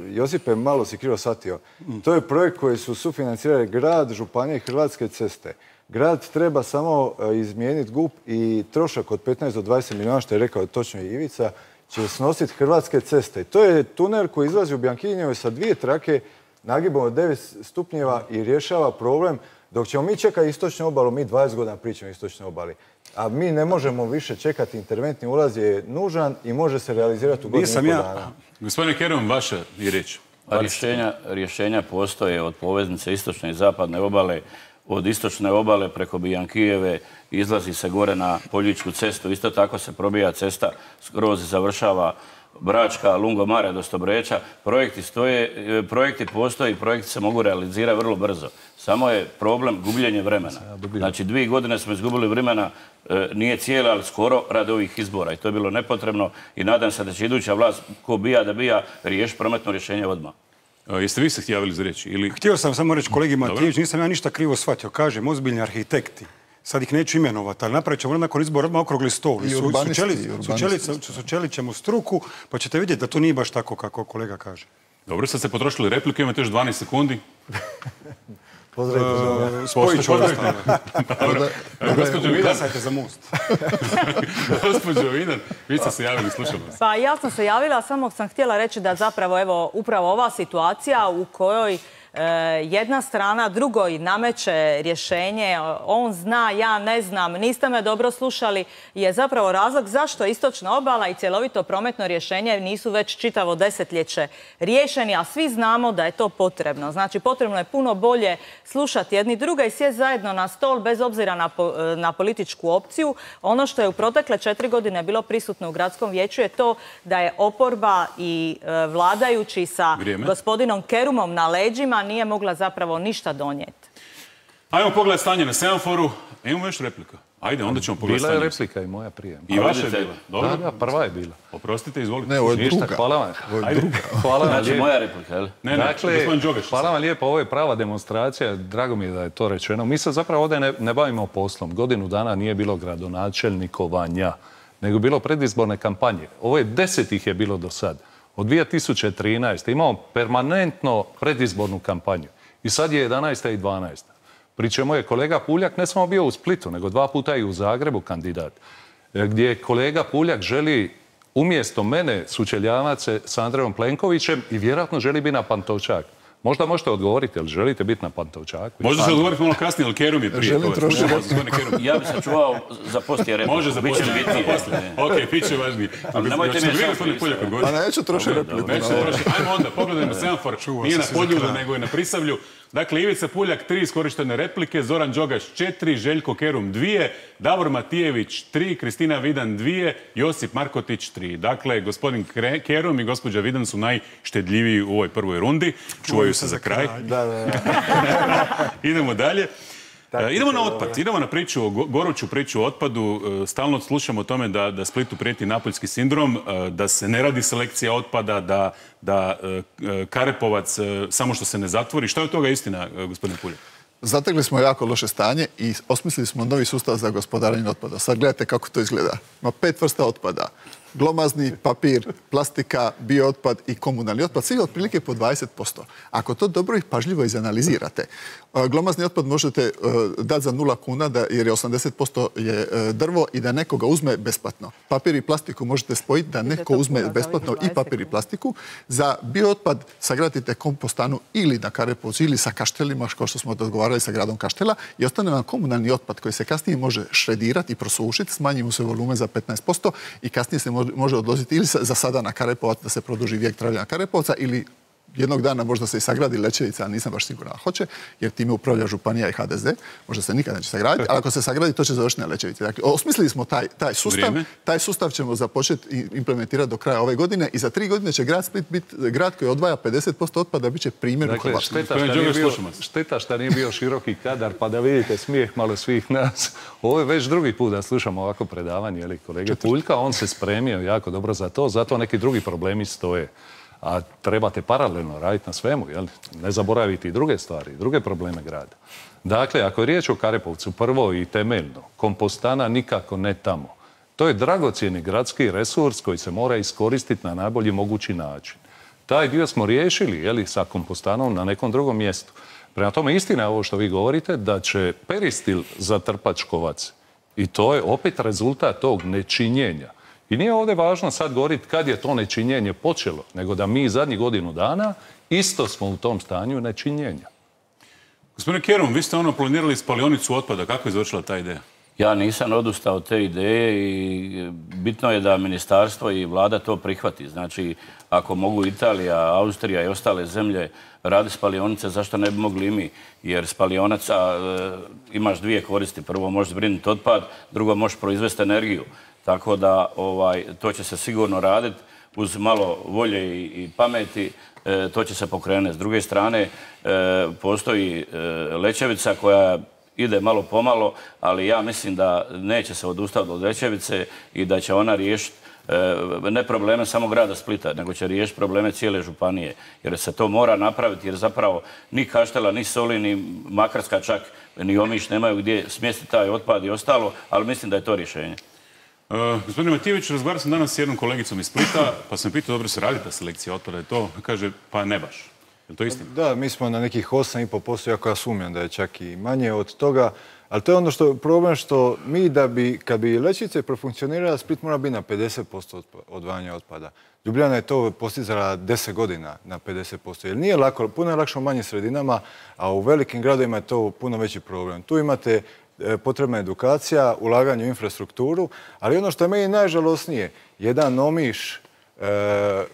Josipe, malo si krivo shvatio. To je projekt koji su sufinancirali grad, županije i Hrvatske ceste. Grad treba samo e, izmijeniti ge u pe i trošak od petnaest do dvadeset milijuna, što je rekao točno i Ivica, će snositi Hrvatske ceste. To je tunel koji izlazi u Bjankinjevoj sa dvije trake, nagibom od devet stupnjeva i rješava problem. Dok ćemo mi čekati istočnu obalu, mi dvadeset godina pričamo o istočnoj obali. A mi ne možemo više čekati, interventni ulaz je nužan i može se realizirati u godinu Nisam i pol ja- dana. Gospodine Kerum, vaša je riječ. Pa Rješenja, rješenja postoje od poveznice istočne i zapadne obale, od istočne obale preko Bijankijeve izlazi se gore na Poljičku cestu. Isto tako se probija cesta skroz završava Bračka, Lungomare do Stobreča. Projekti stoje, projekti postoje i projekti se mogu realizirati vrlo brzo. Samo je problem gubljenje vremena. Znači, dvije godine smo izgubili vremena, e, nije cijela, ali skoro radi ovih izbora. I to je bilo nepotrebno i nadam se da će iduća vlast, ko bija da bija, riješiti prometno rješenje odmah. A, jeste vi se javili za riječ? Ili... Htio sam samo reći kolegi Matijević, nisam ja ništa krivo shvatio. Kažem, ozbiljni arhitekti. Sad ih neću imenovati, ali napravit ćemo nakon izbora odmah okrugli stol. I Su- urbanisti, sučeli- i urbanisti. sučelit- Sučelit ćemo struku, pa ćete vidjeti da to nije baš tako kako kolega kaže. Dobro, sad ste potrošili replike, imate još dvanaest sekundi. Pozdravite. Spojit ću Pozdravite. ostalo. Dobro. Gospođo Vidan, Glasajte za most. gospođo Vidan, vi ste se javili, slušamo vas. Pa ja sam se javila, samo sam htjela reći da zapravo evo upravo ova situacija u kojoj e, jedna strana drugoj nameće rješenje, on zna, ja ne znam, niste me dobro slušali, je zapravo razlog zašto istočna obala i cjelovito prometno rješenje nisu već čitavo desetljeće riješeni, a svi znamo da je to potrebno. Znači, potrebno je puno bolje slušati jedni druga i sjesti zajedno na stol bez obzira na, po, na političku opciju. Ono što je u protekle četiri godine bilo prisutno u gradskom vijeću je to da je oporba i e, vladajući sa Vrijeme. gospodinom Kerumom na leđima nije mogla zapravo ništa donijeti. Ajmo pogledati stanje na semaforu. Imamo još replika. Ajde, onda ćemo pogledati Bila je stanje. replika i moja prije. I vaša je vidite. bila. Dobro. Da, da, prva je bila. Oprostite, izvolite. Ne, ovo je Ništa, druga. hvala vam. Ajde. Hvala vam Znači, lijepo. moja replika, jel? Ne, ne, Dakle, gospodin Đogaš. hvala vam lijepo, ovo je prava demonstracija, drago mi je da je to rečeno. Mi se zapravo ovdje ne, ne bavimo poslom. Godinu dana nije bilo gradonačelnikovanja, nego bilo predizborne kampanje. Ovo je deset ih je bilo do sad. Od dvije tisuće trinaeste imamo permanentno predizbornu kampanju. I sad je jedanaesta i dvanaesta. Pri čemu je kolega Puljak ne samo bio u Splitu, nego dva puta i u Zagrebu kandidat. Gdje kolega Puljak želi umjesto mene sučeljavati se s Andrejom Plenkovićem i vjerojatno želi biti na Pantovčak. Možda možete odgovoriti, ali želite biti na Pantovčaku? Možda se odgovoriti malo kasnije, ali Kerum je prije. Želim trošiti. Ja bi se čuvao za poslije repliku. Može za poslije. Ok, bit će važniji. Nemojte mi je sam Pa neću trošiti repliku. Ajmo onda, pogledajmo semafor. Nije na Podjulu, nego je na Prisavlju. Dakle, Ivica Puljak, tri iskorištene replike, Zoran Đogaš, četiri, Željko Kerum, dvije, Davor Matijević, tri, Kristina Vidan, dvije, Josip Markotić, tri. Dakle, gospodin Kerum i gospođa Vidan su najštedljiviji u ovoj prvoj rundi. Čuvaju se za kraj. Da, da, da. Idemo dalje. Idemo na otpad, idemo na priču, goruću priču o otpadu. Stalno slušamo o tome da, da Splitu prijeti napoljski sindrom, da se ne radi selekcija otpada, da, da Karepovac samo što se ne zatvori. Šta je od toga istina, gospodine Puljak? Zategli smo jako loše stanje i osmislili smo novi sustav za gospodarenje otpada. Sad gledajte kako to izgleda. Ima pet vrsta otpada. Glomazni, papir, plastika, biootpad i komunalni otpad. Svi otprilike po dvadeset posto. Ako to dobro i pažljivo izanalizirate, glomazni otpad možete dati za nula kuna jer je osamdeset posto je drvo i da nekoga uzme besplatno. Papir i plastiku možete spojiti da neko uzme besplatno i papir i plastiku. Za biootpad sagradite kompostanu ili na Karepovcu ili sa Kaštelima, kao što smo dogovarali sa gradom Kaštela, i ostane vam komunalni otpad koji se kasnije može šredirati i prosušiti, smanji mu se volumen za petnaest posto i kasnije se može može odložiti ili za sada na Karepovac da se produži vijek trajanja Karepovca ili jednog dana možda se i sagradi Lećevica, ali nisam baš siguran hoće, jer time upravlja županija i H D Z. Možda se nikad neće sagraditi, ali ako se sagradi, to će završiti na Lećevici. Dakle, osmislili smo taj, taj sustav. Vrijeme. Taj sustav ćemo započeti implementirati do kraja ove godine i za tri godine će grad Split biti grad koji odvaja pedeset posto otpada, bit će primjer u Hrvatskoj. Šteta što nije bio široki kadar, pa da vidite smijeh malo svih nas. Ovo je već drugi put da slušamo ovako predavanje, jeli, kolege Puljka. On se spremio jako dobro za to, zato neki drugi problemi stoje. A trebate paralelno raditi na svemu, jel? Ne zaboraviti i druge stvari, i druge probleme grada. Dakle, ako je riječ o Karepovcu, prvo i temeljno, kompostana nikako ne tamo. To je dragocjeni gradski resurs koji se mora iskoristiti na najbolji mogući način. Taj dio smo riješili, jeli, sa kompostanom na nekom drugom mjestu. Prema tome, istina je ovo što vi govorite, da će Peristil zatrpati Škovac. I to je opet rezultat tog nečinjenja. I nije ovdje važno sad govoriti kad je to nečinjenje počelo, nego da mi zadnjih godinu dana isto smo u tom stanju nečinjenja. Gospodine Kerum, vi ste ono planirali spalionicu otpada. Kako je završila ta ideja? Ja nisam odustao od te ideje i bitno je da ministarstvo i vlada to prihvati. Znači, ako mogu Italija, Austrija i ostale zemlje radi spalionice, zašto ne bi mogli i mi? Jer spalionaca e, imaš dvije koristi. Prvo možeš zbrinuti otpad, drugo možeš proizvesti energiju. Tako da ovaj, to će se sigurno raditi uz malo volje i, i pameti. E, to će se pokrenuti. S druge strane, e, postoji e, Lećevica koja ide malo pomalo, ali ja mislim da neće se odustati od Lećevice i da će ona riješiti e, ne probleme samo grada Splita, nego će riješiti probleme cijele županije. Jer se to mora napraviti, jer zapravo ni Kaštela, ni Solin, ni Makarska čak, ni Omiš nemaju gdje smjestiti taj otpad i ostalo, ali mislim da je to rješenje. Uh, gospodine Matijević, razgovarao sam danas s jednom kolegicom iz Splita, pa sam pitao, dobro se radi ta selekcija otpada i to, kaže, pa ne baš. Je li to istina? Da, mi smo na nekih osam i pol posto, iako ja sumnjam da je čak i manje od toga, ali to je ono što problem što mi da bi, kad bi Lećevica profunkcionirala, Split mora biti na pedeset posto odvajanja otpada. Ljubljana je to postizala deset godina na pedeset posto, jer nije lako, puno je lakše u manjim sredinama, a u velikim gradovima je to puno veći problem. Tu imate potrebna edukacija, ulaganje u infrastrukturu, ali ono što je meni najžalosnije, jedan Omiš,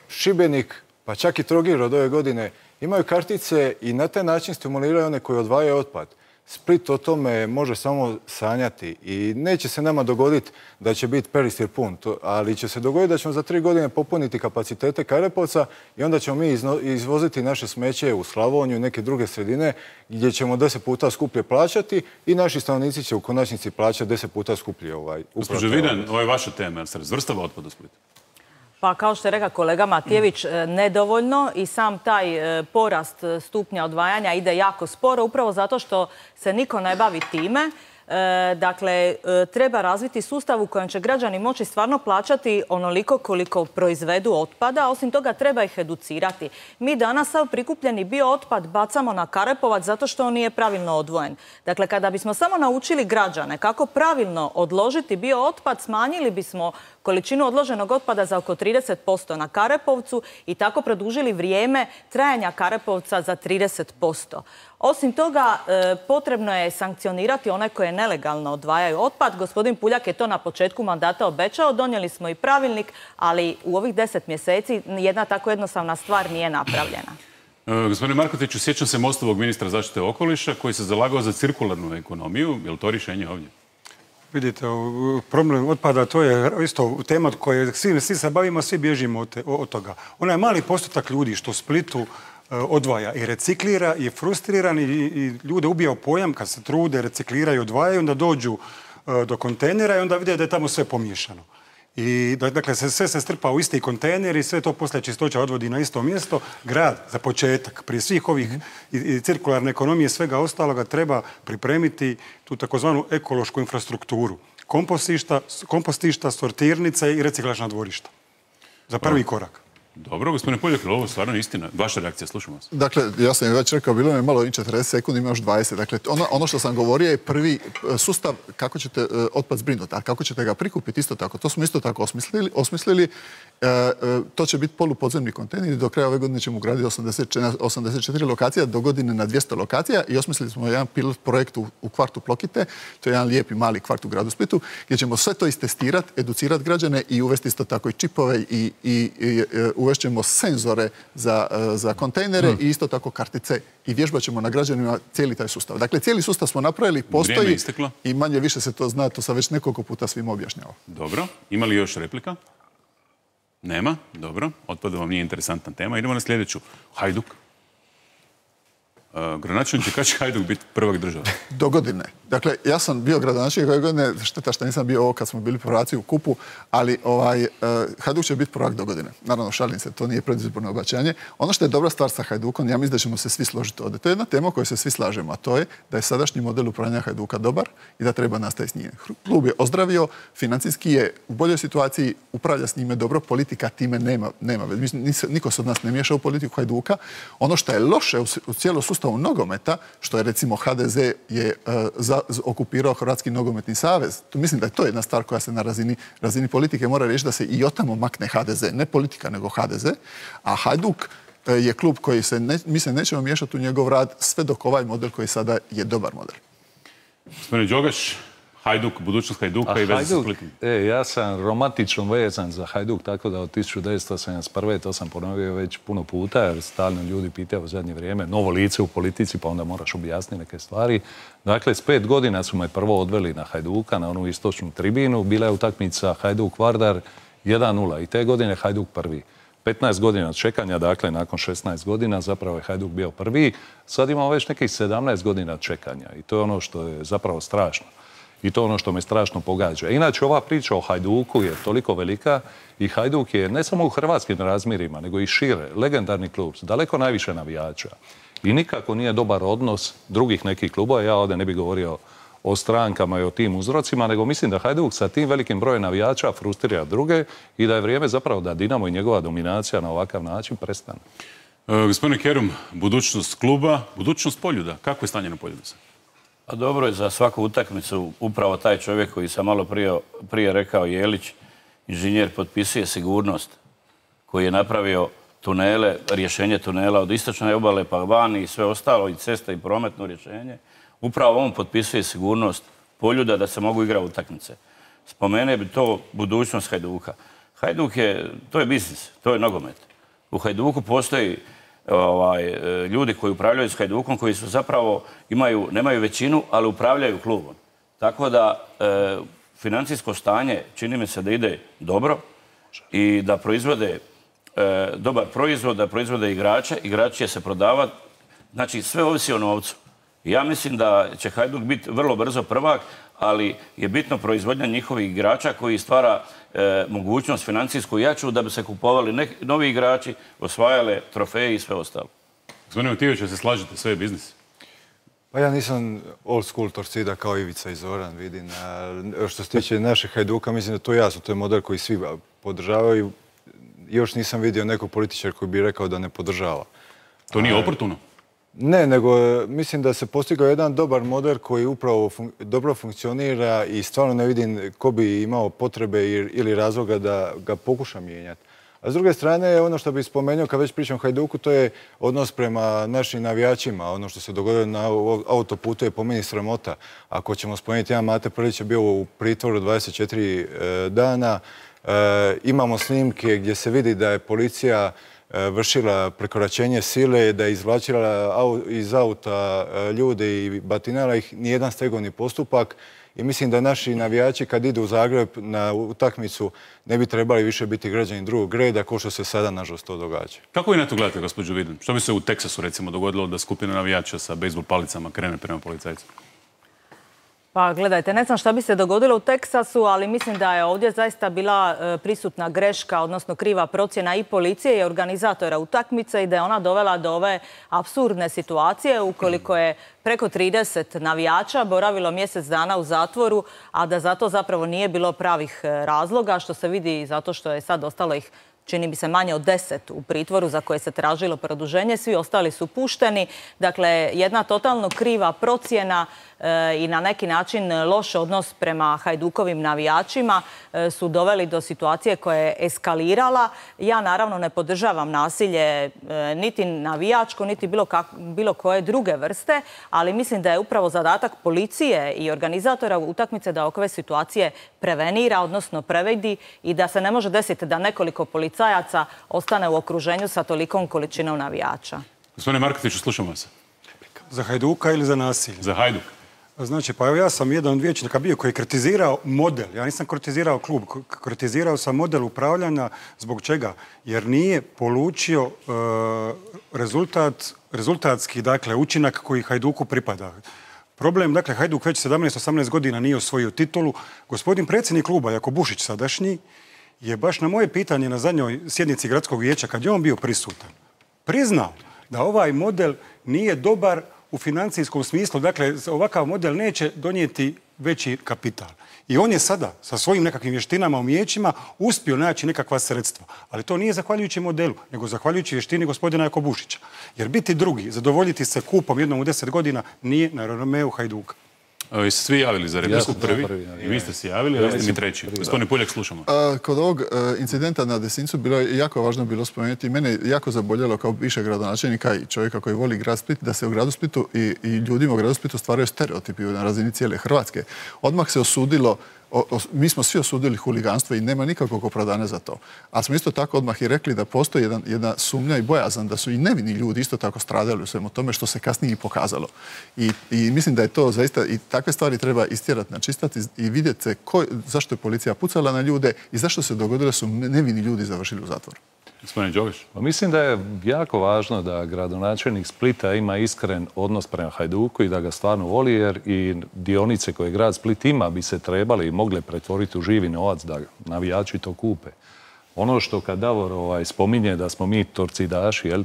Šibenik, pa čak i Trogir od ove godine, imaju kartice i na taj način stimuliraju one koji odvajaju otpad. Split o tome može samo sanjati i neće se nama dogoditi da će biti Peristil pun, ali će se dogoditi da ćemo za tri godine popuniti kapacitete Karepovca i onda ćemo mi izvoziti naše smeće u Slavoniju i neke druge sredine gdje ćemo deset puta skuplje plaćati i naši stanovnici će u konačnici plaćati deset puta skuplje. Ovaj, Gospođo Vidan, ovo je vaša tema, jer se razvrstava otpad u Splitu? Pa kao što je rekao kolega Matijević, nedovoljno i sam taj porast stupnja odvajanja ide jako sporo, upravo zato što se niko ne bavi time. Dakle, treba razviti sustav u kojem će građani moći stvarno plaćati onoliko koliko proizvedu otpada, a osim toga treba ih educirati. Mi danas sav prikupljeni biootpad bacamo na Karepovac zato što on nije pravilno odvojen. Dakle, kada bismo samo naučili građane kako pravilno odložiti biootpad, smanjili bismo količinu odloženog otpada za oko trideset posto na Karepovcu i tako produžili vrijeme trajanja Karepovca za trideset posto. Osim toga, potrebno je sankcionirati one koje nelegalno odvajaju otpad. Gospodin Puljak je to na početku mandata obećao, donijeli smo i pravilnik, ali u ovih deset mjeseci jedna tako jednostavna stvar nije napravljena. Gospodine Markotiću, sjećam se Mostovog ministra zaštite okoliša koji se zalagao za cirkularnu ekonomiju. Je li to rješenje ovdje? Vidite, problem otpada, to je isto tema koje svi, svi se bavimo, svi bježimo od, od toga. Onaj mali postotak ljudi što u Splitu odvaja i reciklira i je frustriran i, i ljude ubija u pojam kad se trude, recikliraju i odvajaju, onda dođu do kontejnera i onda vide da je tamo sve pomiješano. I dakle, sve se strpa u isti kontejner i sve to poslije čistoća odvodi na isto mjesto. Grad, za početak, prije svih ovih i, i cirkularne ekonomije i svega ostaloga treba pripremiti tu takozvanu ekološku infrastrukturu. Kompostišta, kompostišta, sortirnice i reciklažna dvorišta. Za prvi korak. Dobro, gospodine Puljak, ovo je stvarno istina. Vaša reakcija, slušamo vas. Dakle, ja sam već rekao, bilo je malo i četrdeset sekundi, ima još dvadeset. Dakle, ono, ono što sam govorio je prvi sustav kako ćete uh, otpad zbrinuti, a kako ćete ga prikupiti isto tako. To smo isto tako osmislili. osmislili. Uh, uh, to će biti polupodzemni kontejner i do kraja ove godine ćemo ugraditi osamdeset četiri lokacija, do godine na dvjesto lokacija i osmislili smo jedan pilot projekt u, u kvartu Plokite, to je jedan lijepi mali kvart u gradu Splitu, gdje ćemo sve to istestirati, educirati građane i uvesti isto tako i čipove i, i, i, i uvešćemo senzore za, za kontejnere hmm. i isto tako kartice i vježbat ćemo na građanima cijeli taj sustav. Dakle, cijeli sustav smo napravili, postoji i manje više se to zna, to sam već nekoliko puta svima objašnjavao. Dobro. Ima li još replika? Nema? Dobro. Otpad vam nije interesantna tema. Idemo na sljedeću. Hajduk. Uh, gradonačelnik će kada će Hajduk biti prvak države? Do godine. Dakle, ja sam bio gradonačelnik ove godine, šteta što nisam bio ovo kad smo bili prvaciji u kupu, ali ovaj, uh, Hajduk će biti prvak do godine. Naravno, šalim se, to nije predizborno obećanje. Ono što je dobra stvar sa Hajdukom, ja mislim da ćemo se svi složiti ovdje. To je jedna tema o kojoj se svi slažemo, a to je da je sadašnji model upravljanja Hajduka dobar i da treba nastaviti s njim. Klub je ozdravio, financijski je u boljoj situaciji, upravlja s njime dobro, politika time nema. nema. Niko se od nas ne miješa u politiku Hajduka. Ono što je loše u, u cijelom sustavu nogometa, što je recimo H D Z je uh, za, okupirao Hrvatski nogometni savez. Tu mislim da je to jedna stvar koja se na razini, razini politike mora reći da se i otamo makne H D Z. Ne politika, nego H D Z. A Hajduk uh, je klub koji se, ne, mi se nećemo miješati u njegov rad sve dok ovaj model koji sada je dobar model. Gospodine Đogaš, Hajduk, budućnost Hajduka i veze sa Splitom. E, ja sam romantično vezan za Hajduk, tako da od tisuću devetsto sedamdeset prve to sam ponovio već puno puta, jer stalno ljudi pitaju u zadnje vrijeme, novo lice u politici, pa onda moraš objasniti neke stvari. Dakle, s pet godina su me prvo odveli na Hajduka, na onu istočnu tribinu. Bila je utakmica Hajduk-Vardar jedan nula i te godine Hajduk prvi. petnaest godina čekanja, dakle, nakon šesnaest godina, zapravo je Hajduk bio prvi. Sad imamo već nekih sedamnaest godina čekanja i to je ono što je zapravo strašno. I to je ono što me strašno pogađa. Inače, ova priča o Hajduku je toliko velika i Hajduk je ne samo u hrvatskim razmjerima, nego i šire, legendarni klub, daleko najviše navijača. I nikako nije dobar odnos drugih nekih klubova. Ja ovdje ne bih govorio o strankama i o tim uzrocima, nego mislim da Hajduk sa tim velikim brojem navijača frustrira druge i da je vrijeme zapravo da Dinamo i njegova dominacija na ovakav način prestane. E, gospodine Kerum, budućnost kluba, budućnost Poljuda. Kako je stanje na Poljudu? A dobro je za svaku utakmicu upravo taj čovjek koji sam malo prije, prije rekao, Jelić, inženjer, potpisuje sigurnost, koji je napravio tunele, rješenje tunela od istočne obale pa van i sve ostalo, i ceste i prometno rješenje. Upravo on potpisuje sigurnost Poljuda da se mogu igrati utakmice. Spomene bi to budućnost Hajduka. Hajduk je, to je biznis, to je nogomet. U Hajduku postoji ovaj, ljudi koji upravljaju s Hajdukom, koji su zapravo, imaju, nemaju većinu, ali upravljaju klubom. Tako da e, financijsko stanje čini mi se da ide dobro i da proizvode e, dobar proizvod, da proizvode igrače, igrači će se prodavati. Znači, sve ovisi o novcu. Ja mislim da će Hajduk biti vrlo brzo prvak, ali je bitno proizvodnja njihovih igrača koji stvara e, mogućnost financijsku jaču da bi se kupovali neki, novi igrači, osvajale trofeje i sve ostalo. Gospodine Matijević, se slažete, sve je biznis? Pa ja nisam old school Torcida kao Ivica i Zoran, vidim. A što se tiče našeg Hajduka, mislim da to je jasno, to je model koji svi podržavaju. Još nisam vidio nekog političara koji bi rekao da ne podržava. To nije oportuno? Ne, nego mislim da se postigao jedan dobar model koji upravo fun dobro funkcionira i stvarno ne vidim ko bi imao potrebe ili razloga da ga pokuša mijenjati. A s druge strane, ono što bih spomenuo kad već pričam o Hajduku, to je odnos prema našim navijačima. Ono što se dogodilo na autoputu je po meni sramota. Ako ćemo spomenuti, jedan Mate Prlić je bio u pritvoru dvadeset četiri dana. E, imamo snimke gdje se vidi da je policija vršila prekoračenje sile, da je izvlačila iz auta ljude i batinala ih, nijedan stegovni postupak. I mislim da naši navijači kad idu u Zagreb na utakmicu ne bi trebali više biti građani drugog reda, kao što se sada nažalost to događa. Kako vi na to gledate, gospođo Vidan? Što bi se u Teksasu recimo dogodilo da skupina navijača sa bejzbol palicama krene prema policajcu? Pa gledajte, ne znam šta bi se dogodilo u Teksasu, ali mislim da je ovdje zaista bila prisutna greška, odnosno kriva procjena i policije i organizatora utakmice i da je ona dovela do ove apsurdne situacije ukoliko je preko trideset navijača boravilo mjesec dana u zatvoru, a da za to zapravo nije bilo pravih razloga, što se vidi zato što je sad ostalo ih čini mi se manje od deset u pritvoru za koje se tražilo produženje. Svi ostali su pušteni. Dakle, jedna totalno kriva procjena i na neki način loš odnos prema Hajdukovim navijačima su doveli do situacije koja je eskalirala. Ja naravno ne podržavam nasilje niti navijačko, niti bilo, bilo koje druge vrste, ali mislim da je upravo zadatak policije i organizatora utakmice da ove situacije prevenira, odnosno previdi i da se ne može desiti da nekoliko policajaca ostane u okruženju sa tolikom količinom navijača. Gospodine Markotiću, slušamo se. Za Hajduka ili za nasilje? Za Hajduk. Znači, pa evo ja sam jedan od vijećnika bio koji je kritizirao model. Ja nisam kritizirao klub, kritizirao sam model upravljanja. Zbog čega? Jer nije polučio uh, rezultat, rezultatski, dakle, učinak koji Hajduku pripada. Problem, dakle, Hajduk već sedamnaest osamnaest godina nije osvojio titulu. Gospodin predsjednik kluba, Jako Bušić sadašnji, je baš na moje pitanje na zadnjoj sjednici gradskog vijeća, kad je on bio prisutan, priznao da ovaj model nije dobar u financijskom smislu. Dakle, ovakav model neće donijeti veći kapital. I on je sada sa svojim nekakvim vještinama, umijećima uspio naći nekakva sredstva. Ali to nije zahvaljujući modelu, nego zahvaljujući vještini gospodina Jako Bušića. Jer biti drugi, zadovoljiti se kupom jednom u deset godina, nije na renomeu Hajduka. Vi ste svi javili za repliku prvi. I vi ste se javili, a vi ste mi treći. Gospodine Puljak, slušamo. Kod ovog incidenta na Desincu bilo je jako važno bilo spomenuti. Mene jako zaboljelo kao bivšeg gradonačelnika i čovjeka koji voli grad Split, da se u gradu Splitu i, i ljudima u gradu Splitu stvaraju stereotipi na razini cijele Hrvatske. Odmah se osudilo, o, o, mi smo svi osudili huliganstvo i nema nikakvog opravdanja za to. Ali smo isto tako odmah i rekli da postoji jedan, jedna sumnja i bojazan da su i nevini ljudi isto tako stradali u svemu tome, što se kasnije i pokazalo. I, i mislim da je to zaista, i takve stvari treba istjerati, načistati i vidjeti se ko, zašto je policija pucala na ljude i zašto se dogodilo su nevini ljudi završili u zatvoru. Gospodine Đogaš. Mislim da je jako važno da gradonačelnik Splita ima iskren odnos prema Hajduku i da ga stvarno voli, jer i dionice koje grad Split ima bi se trebale i mogle pretvoriti u živi novac da navijači to kupe. Ono što kad Davor ovaj, spominje da smo mi torcidaši, jel?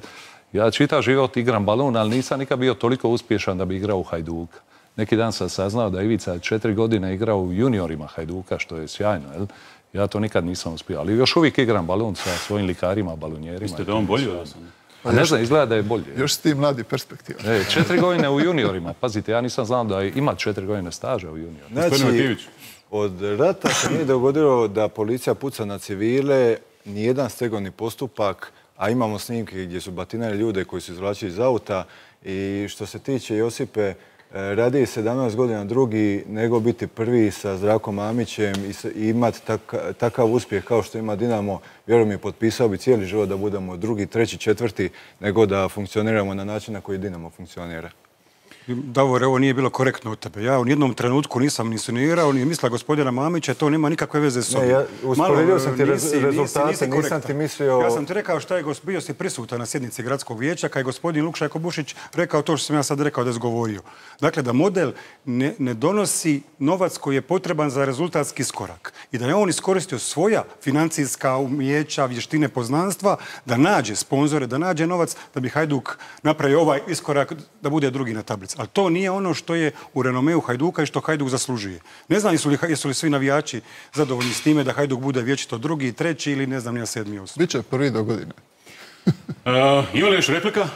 Ja čitav život igram balon, ali nisam nikad bio toliko uspješan da bi igrao u Hajduka. Neki dan sam saznao da Ivica četiri godine igrao u juniorima Hajduka, što je sjajno, jel? Ja to nikad nisam uspio, ali još uvijek igram balon sa svojim likarima, balonjerima. Mislite da on bolji od vas? Pa ne znam, izgleda da je bolje. Još si ti mladi perspektiva. E, četiri godine u juniorima. Pazite, ja nisam znao da ima četiri godine staža u juniorima. Znači, od rata se nije dogodilo da policija puca na civile, nijedan stegovni postupak, a imamo snimke gdje su batinali ljude koji su izvlačili iz auta. I što se tiče Josipe, radi sedamnaest godina drugi nego biti prvi sa Zdravkom Mamićem i imati takav uspjeh kao što ima Dinamo. Vjerujem mi, potpisao bi cijeli život da budemo drugi, treći, četvrti, nego da funkcioniramo na način na koji Dinamo funkcionira. Davor, ovo nije bilo korektno od tebe. Ja u jednom trenutku nisam insinuirao, ni mislila gospodina Mamića, to nema nikakve veze s sobom. Ne, ja usporedio sam ti rezultate, nisam ti mislio... Ja sam ti rekao šta je, bio si prisutan na sjednici gradskog vijeća, kad je gospodin Lukša Jako Bušić rekao to što sam ja sad rekao da je izgovorio. Dakle, da model ne, ne donosi novac koji je potreban za rezultatski iskorak. I da je on iskoristio svoja financijska umijeća, vještine, poznanstva, da nađe sponzore, da nađe novac, da bi Hajduk napravio ovaj iskorak, da bude drugi na tablici. Ali to nije ono što je u renomeu Hajduka i što Hajduk zaslužuje. Ne znam jesu li, jesu li svi navijači zadovoljni s time da Hajduk bude vječito drugi, treći ili ne znam nija sedmi osmi. Biće prvi do godine. uh, ima li još replika?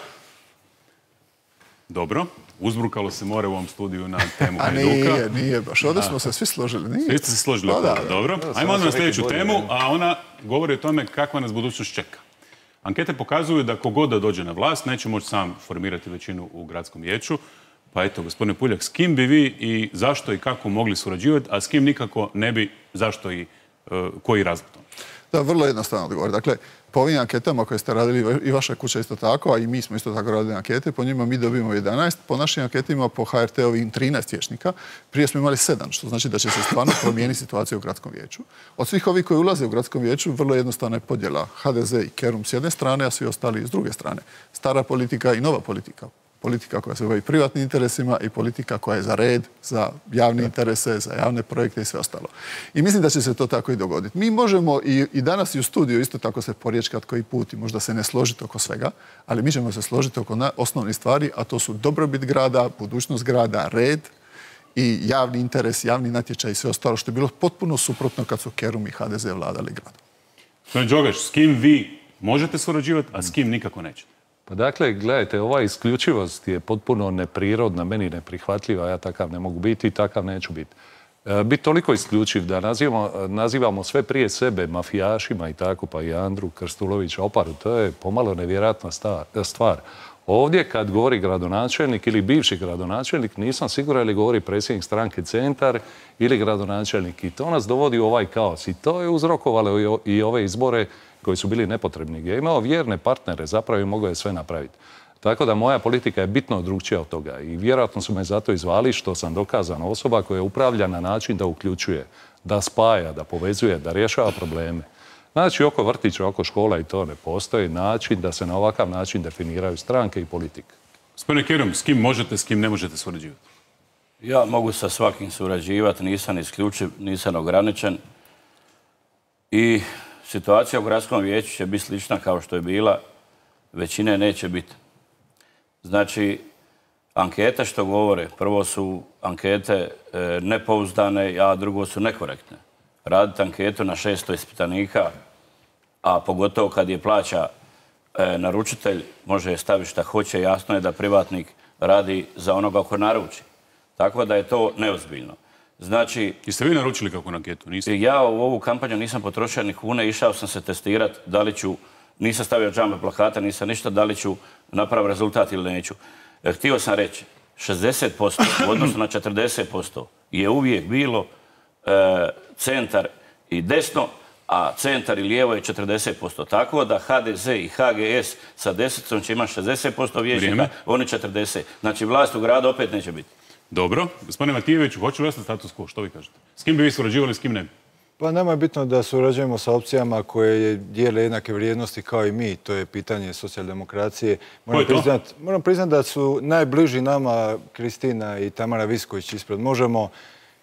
Dobro. Uzbrukalo se more u ovom studiju na temu A Hajduka. nije, nije baš. Ovdje smo se svi složili. Nije. Svi ste se složili. Pa da, oko toga. Dobro. Da, Ajmo onda na sam sljedeću neki temu, bolji, a ona govori o tome kakva nas budućnost čeka. Ankete pokazuju da kogod da dođe na vlast neće moći sam formirati većinu u gradskom vijeću. Pa eto, gospodine Puljak, s kim bi vi i zašto i kako mogli surađivati, a s kim nikako ne bi, zašto i uh, koji razlog tome? Da, vrlo jednostavno odgovor. Dakle, po ovim anketama koje ste radili i vaša kuća isto tako, a i mi smo isto tako radili ankete, po njima mi dobijemo jedanaest, po našim anketima po H R T-ovim trinaest vijećnika, prije smo imali sedam, što znači da će se stvarno promijeniti situacija u gradskom vijeću. Od svih ovih koji ulaze u gradskom vijeću, vrlo jednostavna je podjela H D Z i Kerum s jedne strane, a svi ostali s druge strane. Stara politika i nova politika. Politika koja se bavi privatnim interesima i politika koja je za red, za javne interese, za javne projekte i sve ostalo. I mislim da će se to tako i dogoditi. Mi možemo i, i danas i u studiju isto tako se porječkati koji put i možda se ne složiti oko svega, ali mi ćemo se složiti oko na, osnovnih stvari, a to su dobrobit grada, budućnost grada, red i javni interes, javni natječaj i sve ostalo, što je bilo potpuno suprotno kad su Kerum i H D Z vladali gradom. Gospodin Đogaš, s kim vi možete surađivati, a s kim nikako nećete? Pa dakle, gledajte, ova isključivost je potpuno neprirodna, meni neprihvatljiva, ja takav ne mogu biti i takav neću biti. E, biti toliko isključiv da nazivamo, nazivamo sve prije sebe mafijašima i tako, pa i Andru Krstulovića Oparu, to je pomalo nevjerojatna stvar. Ovdje kad govori gradonačelnik ili bivši gradonačelnik, nisam siguran ili govori predsjednik stranke Centar ili gradonačelnik. I to nas dovodi u ovaj kaos. I to je uzrokovalo i ove izbore koji su bili nepotrebni. Ja imao vjerne partnere, zapravo i mogu je sve napraviti. Tako da moja politika je bitno drugčija od toga. I vjerojatno su me zato izvali što sam dokazana osoba koja upravlja na način da uključuje, da spaja, da povezuje, da rješava probleme. Znači, oko vrtića, oko škola i to ne postoji način da se na ovakav način definiraju stranke i politika. Gospodine Kerum, s kim možete, s kim ne možete surađivati? Ja mogu sa svakim surađivati, nisam isključiv, nisam ograničen. I situacija u gradskom vijeću će biti slična kao što je bila, većine neće biti. Znači, ankete što govore, prvo su ankete e, nepouzdane, a drugo su nekorektne. Raditi anketu na šesto ispitanika, a pogotovo kad je plaća e, naručitelj, može je staviti šta hoće, jasno je da privatnik radi za onoga ko naruči. Tako da je to neozbiljno. Znači, jeste vi naručili kako na anketu? Niste? Ja u ovu kampanju nisam potrošio ni kune, išao sam se testirati da li ću, nisam stavio džambe plakata, nisam ništa, da li ću napraviti rezultat ili neću. E, htio sam reći, šezdeset posto u odnosu na četrdeset posto je uvijek bilo e, centar i desno, a centar i lijevo je četrdeset posto. Tako da H D Z i H G S sa desetom će imati šezdeset posto vijećnika, oni četrdeset. Znači vlast u gradu opet neće biti. Dobro. Gospodine Matijeviću, hoće li ostati status quo? Što vi kažete? S kim bi vi surađivali, s kim ne? Pa nama je bitno da surađujemo sa opcijama koje dijele jednake vrijednosti kao i mi. To je pitanje socijaldemokracije. Moram priznat, moram priznat da su najbliži nama Kristina i Tamara Visković ispred Možemo.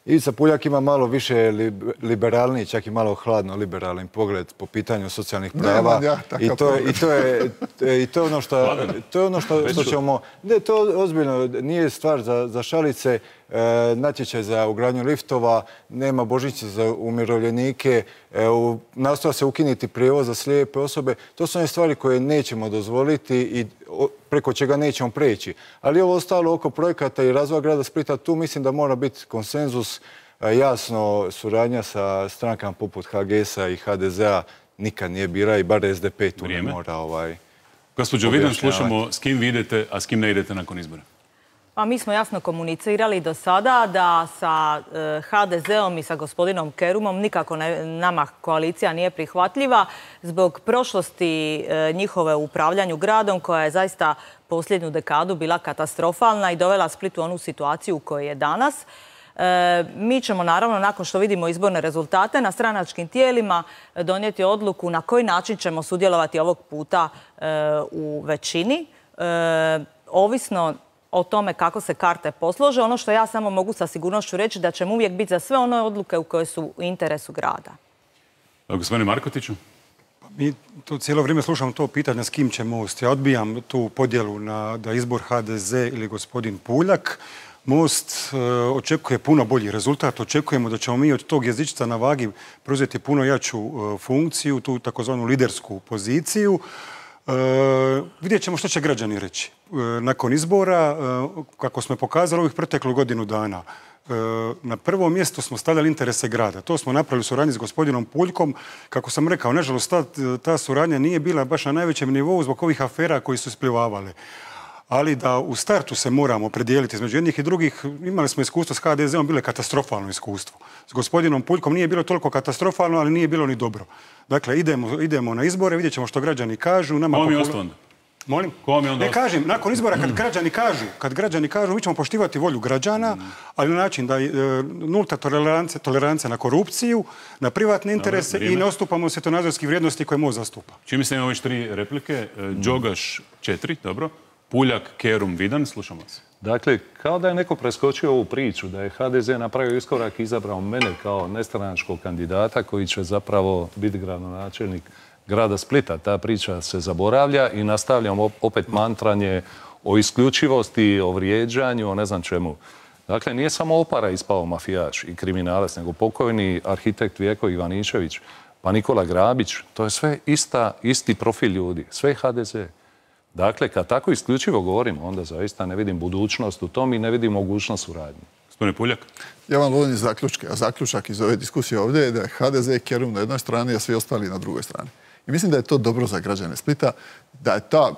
Ivica Puljak ima malo više liberalniji, čak i malo hladno liberalni pogled po pitanju socijalnih prava. Ja, I to je, i to je, i to je ono što, to je ono što, što ćemo... Ne, to ozbiljno nije stvar za, za šalice. E, natječaj za ugradnju liftova, nema božićnice za umirovljenike, e, u, nastoja se ukinuti prijevoz za slijepe osobe. To su one stvari koje nećemo dozvoliti i o, preko čega nećemo preći. Ali ovo ostalo oko projekata i razvoja grada Splita, tu mislim da mora biti konsenzus, e, jasno suradnja sa strankama poput H G S-a i H D Z-a nikad nije bira i bar S D P tu ne mora ovaj... Gospođo Vidan, slušamo s kim vi idete, a s kim ne idete nakon izbora. Pa mi smo jasno komunicirali do sada da sa H D Z-om i sa gospodinom Kerumom nikako ne, nama koalicija nije prihvatljiva zbog prošlosti njihove u upravljanju gradom koja je zaista posljednju dekadu bila katastrofalna i dovela Split u onu situaciju u kojoj je danas. E, mi ćemo naravno nakon što vidimo izborne rezultate na stranačkim tijelima donijeti odluku na koji način ćemo sudjelovati ovog puta e, u većini. E, ovisno o tome kako se karte poslože. Ono što ja samo mogu sa sigurnošću reći da ćemo uvijek biti za sve one odluke u koje su u interesu grada. Gospodine Markotiću? Mi to cijelo vrijeme slušamo to pitanje s kim će Most. Ja odbijam tu podjelu na da izbor H D Z ili gospodin Puljak. Most e, očekuje puno bolji rezultat. Očekujemo da ćemo mi od tog jezičica na vagi preuzeti puno jaču e, funkciju, tu takozvanu lidersku poziciju. Vidjet ćemo što će građani reći. Nakon izbora, kako smo pokazali ovih proteklu godinu dana, na prvo mjesto smo stavljali interese grada. To smo napravili u suradnji s gospodinom Puljkom. Kako sam rekao, nažalost, ta, ta suradnja nije bila baš na najvećem nivou zbog ovih afera koji su isplivavale. Ali da u startu se moramo predijeliti između jednih i drugih. Imali smo iskustvo s ha de zeom, bilo je katastrofalno iskustvo. S gospodinom Puljkom nije bilo toliko katastrofalno, ali nije bilo ni dobro. Dakle, idemo, idemo na izbore, vidjet ćemo što građani kažu. Nama Kom je ostalo? Molim? Kom je onda ne kažem, nakon izbora kad građani kažu, kad građani kažu, mi ćemo poštivati volju građana, mm. ali na način da je e, nulta tolerancija, tolerancija na korupciju, na privatne interese Dobre, i ne ostupamo svjetonazorskih vrijednosti koje Most zastupa. Čim se imamo već tri replike, e, Đogaš četiri, dobro, Puljak, Kerum, Vidan, slušamo se. Dakle, kao da je neko preskočio ovu priču, da je ha de ze napravio iskorak i izabrao mene kao nestranačkog kandidata koji će zapravo biti gradonačelnik grada Splita. Ta priča se zaboravlja i nastavljamo opet mantranje o isključivosti, o vrijeđanju, o ne znam čemu. Dakle, nije samo Opara ispao mafijaš i kriminalac, nego pokojni arhitekt Vjeko Ivaničević, pa Nikola Grabić. To je sve ista, isti profil ljudi, sve ha de ze. Dakle, kad tako isključivo govorimo, onda zaista ne vidim budućnost u tom i ne vidim mogućnost suradnje. Gospodine Puljak? Ja vam volim zaključke, a zaključak iz ove diskusije ovdje je da je ha de ze i Kerum na jednoj strani, a svi ostali na drugoj strani. I mislim da je to dobro za građane Splita, da je ta,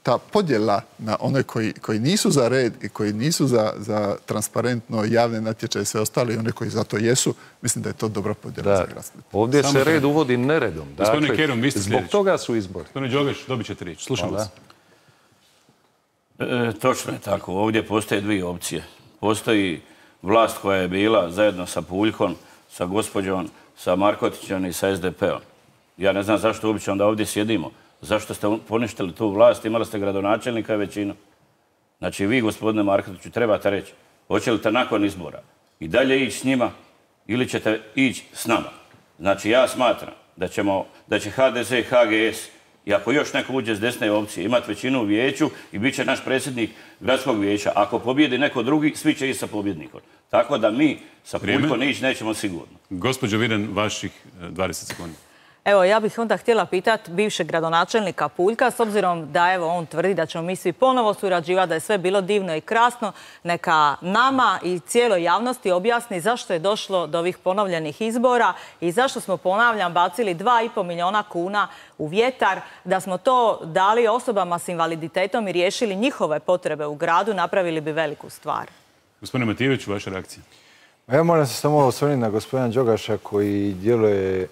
ta podjela na one koji, koji nisu za red i koji nisu za, za transparentno javne natječaje i sve ostale i one koji za to jesu, mislim da je to dobra podjela da, za grad Split. Ovdje Samo se red uvodi neredom. Gospodine dakle, Kerum, vi ste zbog sljedeći. toga su izbori. Gospodine Đogaš, dobit ćete riječ. Slušam vas. E, točno je tako. Ovdje postoje dvije opcije. Postoji vlast koja je bila zajedno sa Puljkom, sa gospođom, sa Markotićem i sa es de pe om. Ja ne znam zašto uopće onda ovdje sjedimo. Zašto ste poništili tu vlast, imali ste gradonačelnika i većinu. Znači vi, gospodine Markotiću, trebate reći, hoćete nakon izbora i dalje ići s njima ili ćete ići s nama. Znači ja smatram da, ćemo, da će ha de ze i ha ge es, i ako još neko uđe s desne opcije, imati većinu u vijeću i bit će naš predsjednik gradskog vijeća. Ako pobjedi neko drugi, svi će ići sa pobjednikom. Tako da mi sa Puljkom ići nećemo sigurno. Gospođo Vidan, vaših dvadeset sekundi. Evo, ja bih onda htjela pitati bivšeg gradonačelnika Puljka, s obzirom da evo on tvrdi da ćemo mi svi ponovo surađivati, da je sve bilo divno i krasno, neka nama i cijeloj javnosti objasni zašto je došlo do ovih ponovljenih izbora i zašto smo, ponavljam, bacili dva i pol milijuna kuna u vjetar, da smo to dali osobama s invaliditetom i riješili njihove potrebe u gradu, napravili bi veliku stvar. Gospodine Matijević, vaša reakcija? Ja moram se samo osvrnuti na gospodina Đogaša koji djeluje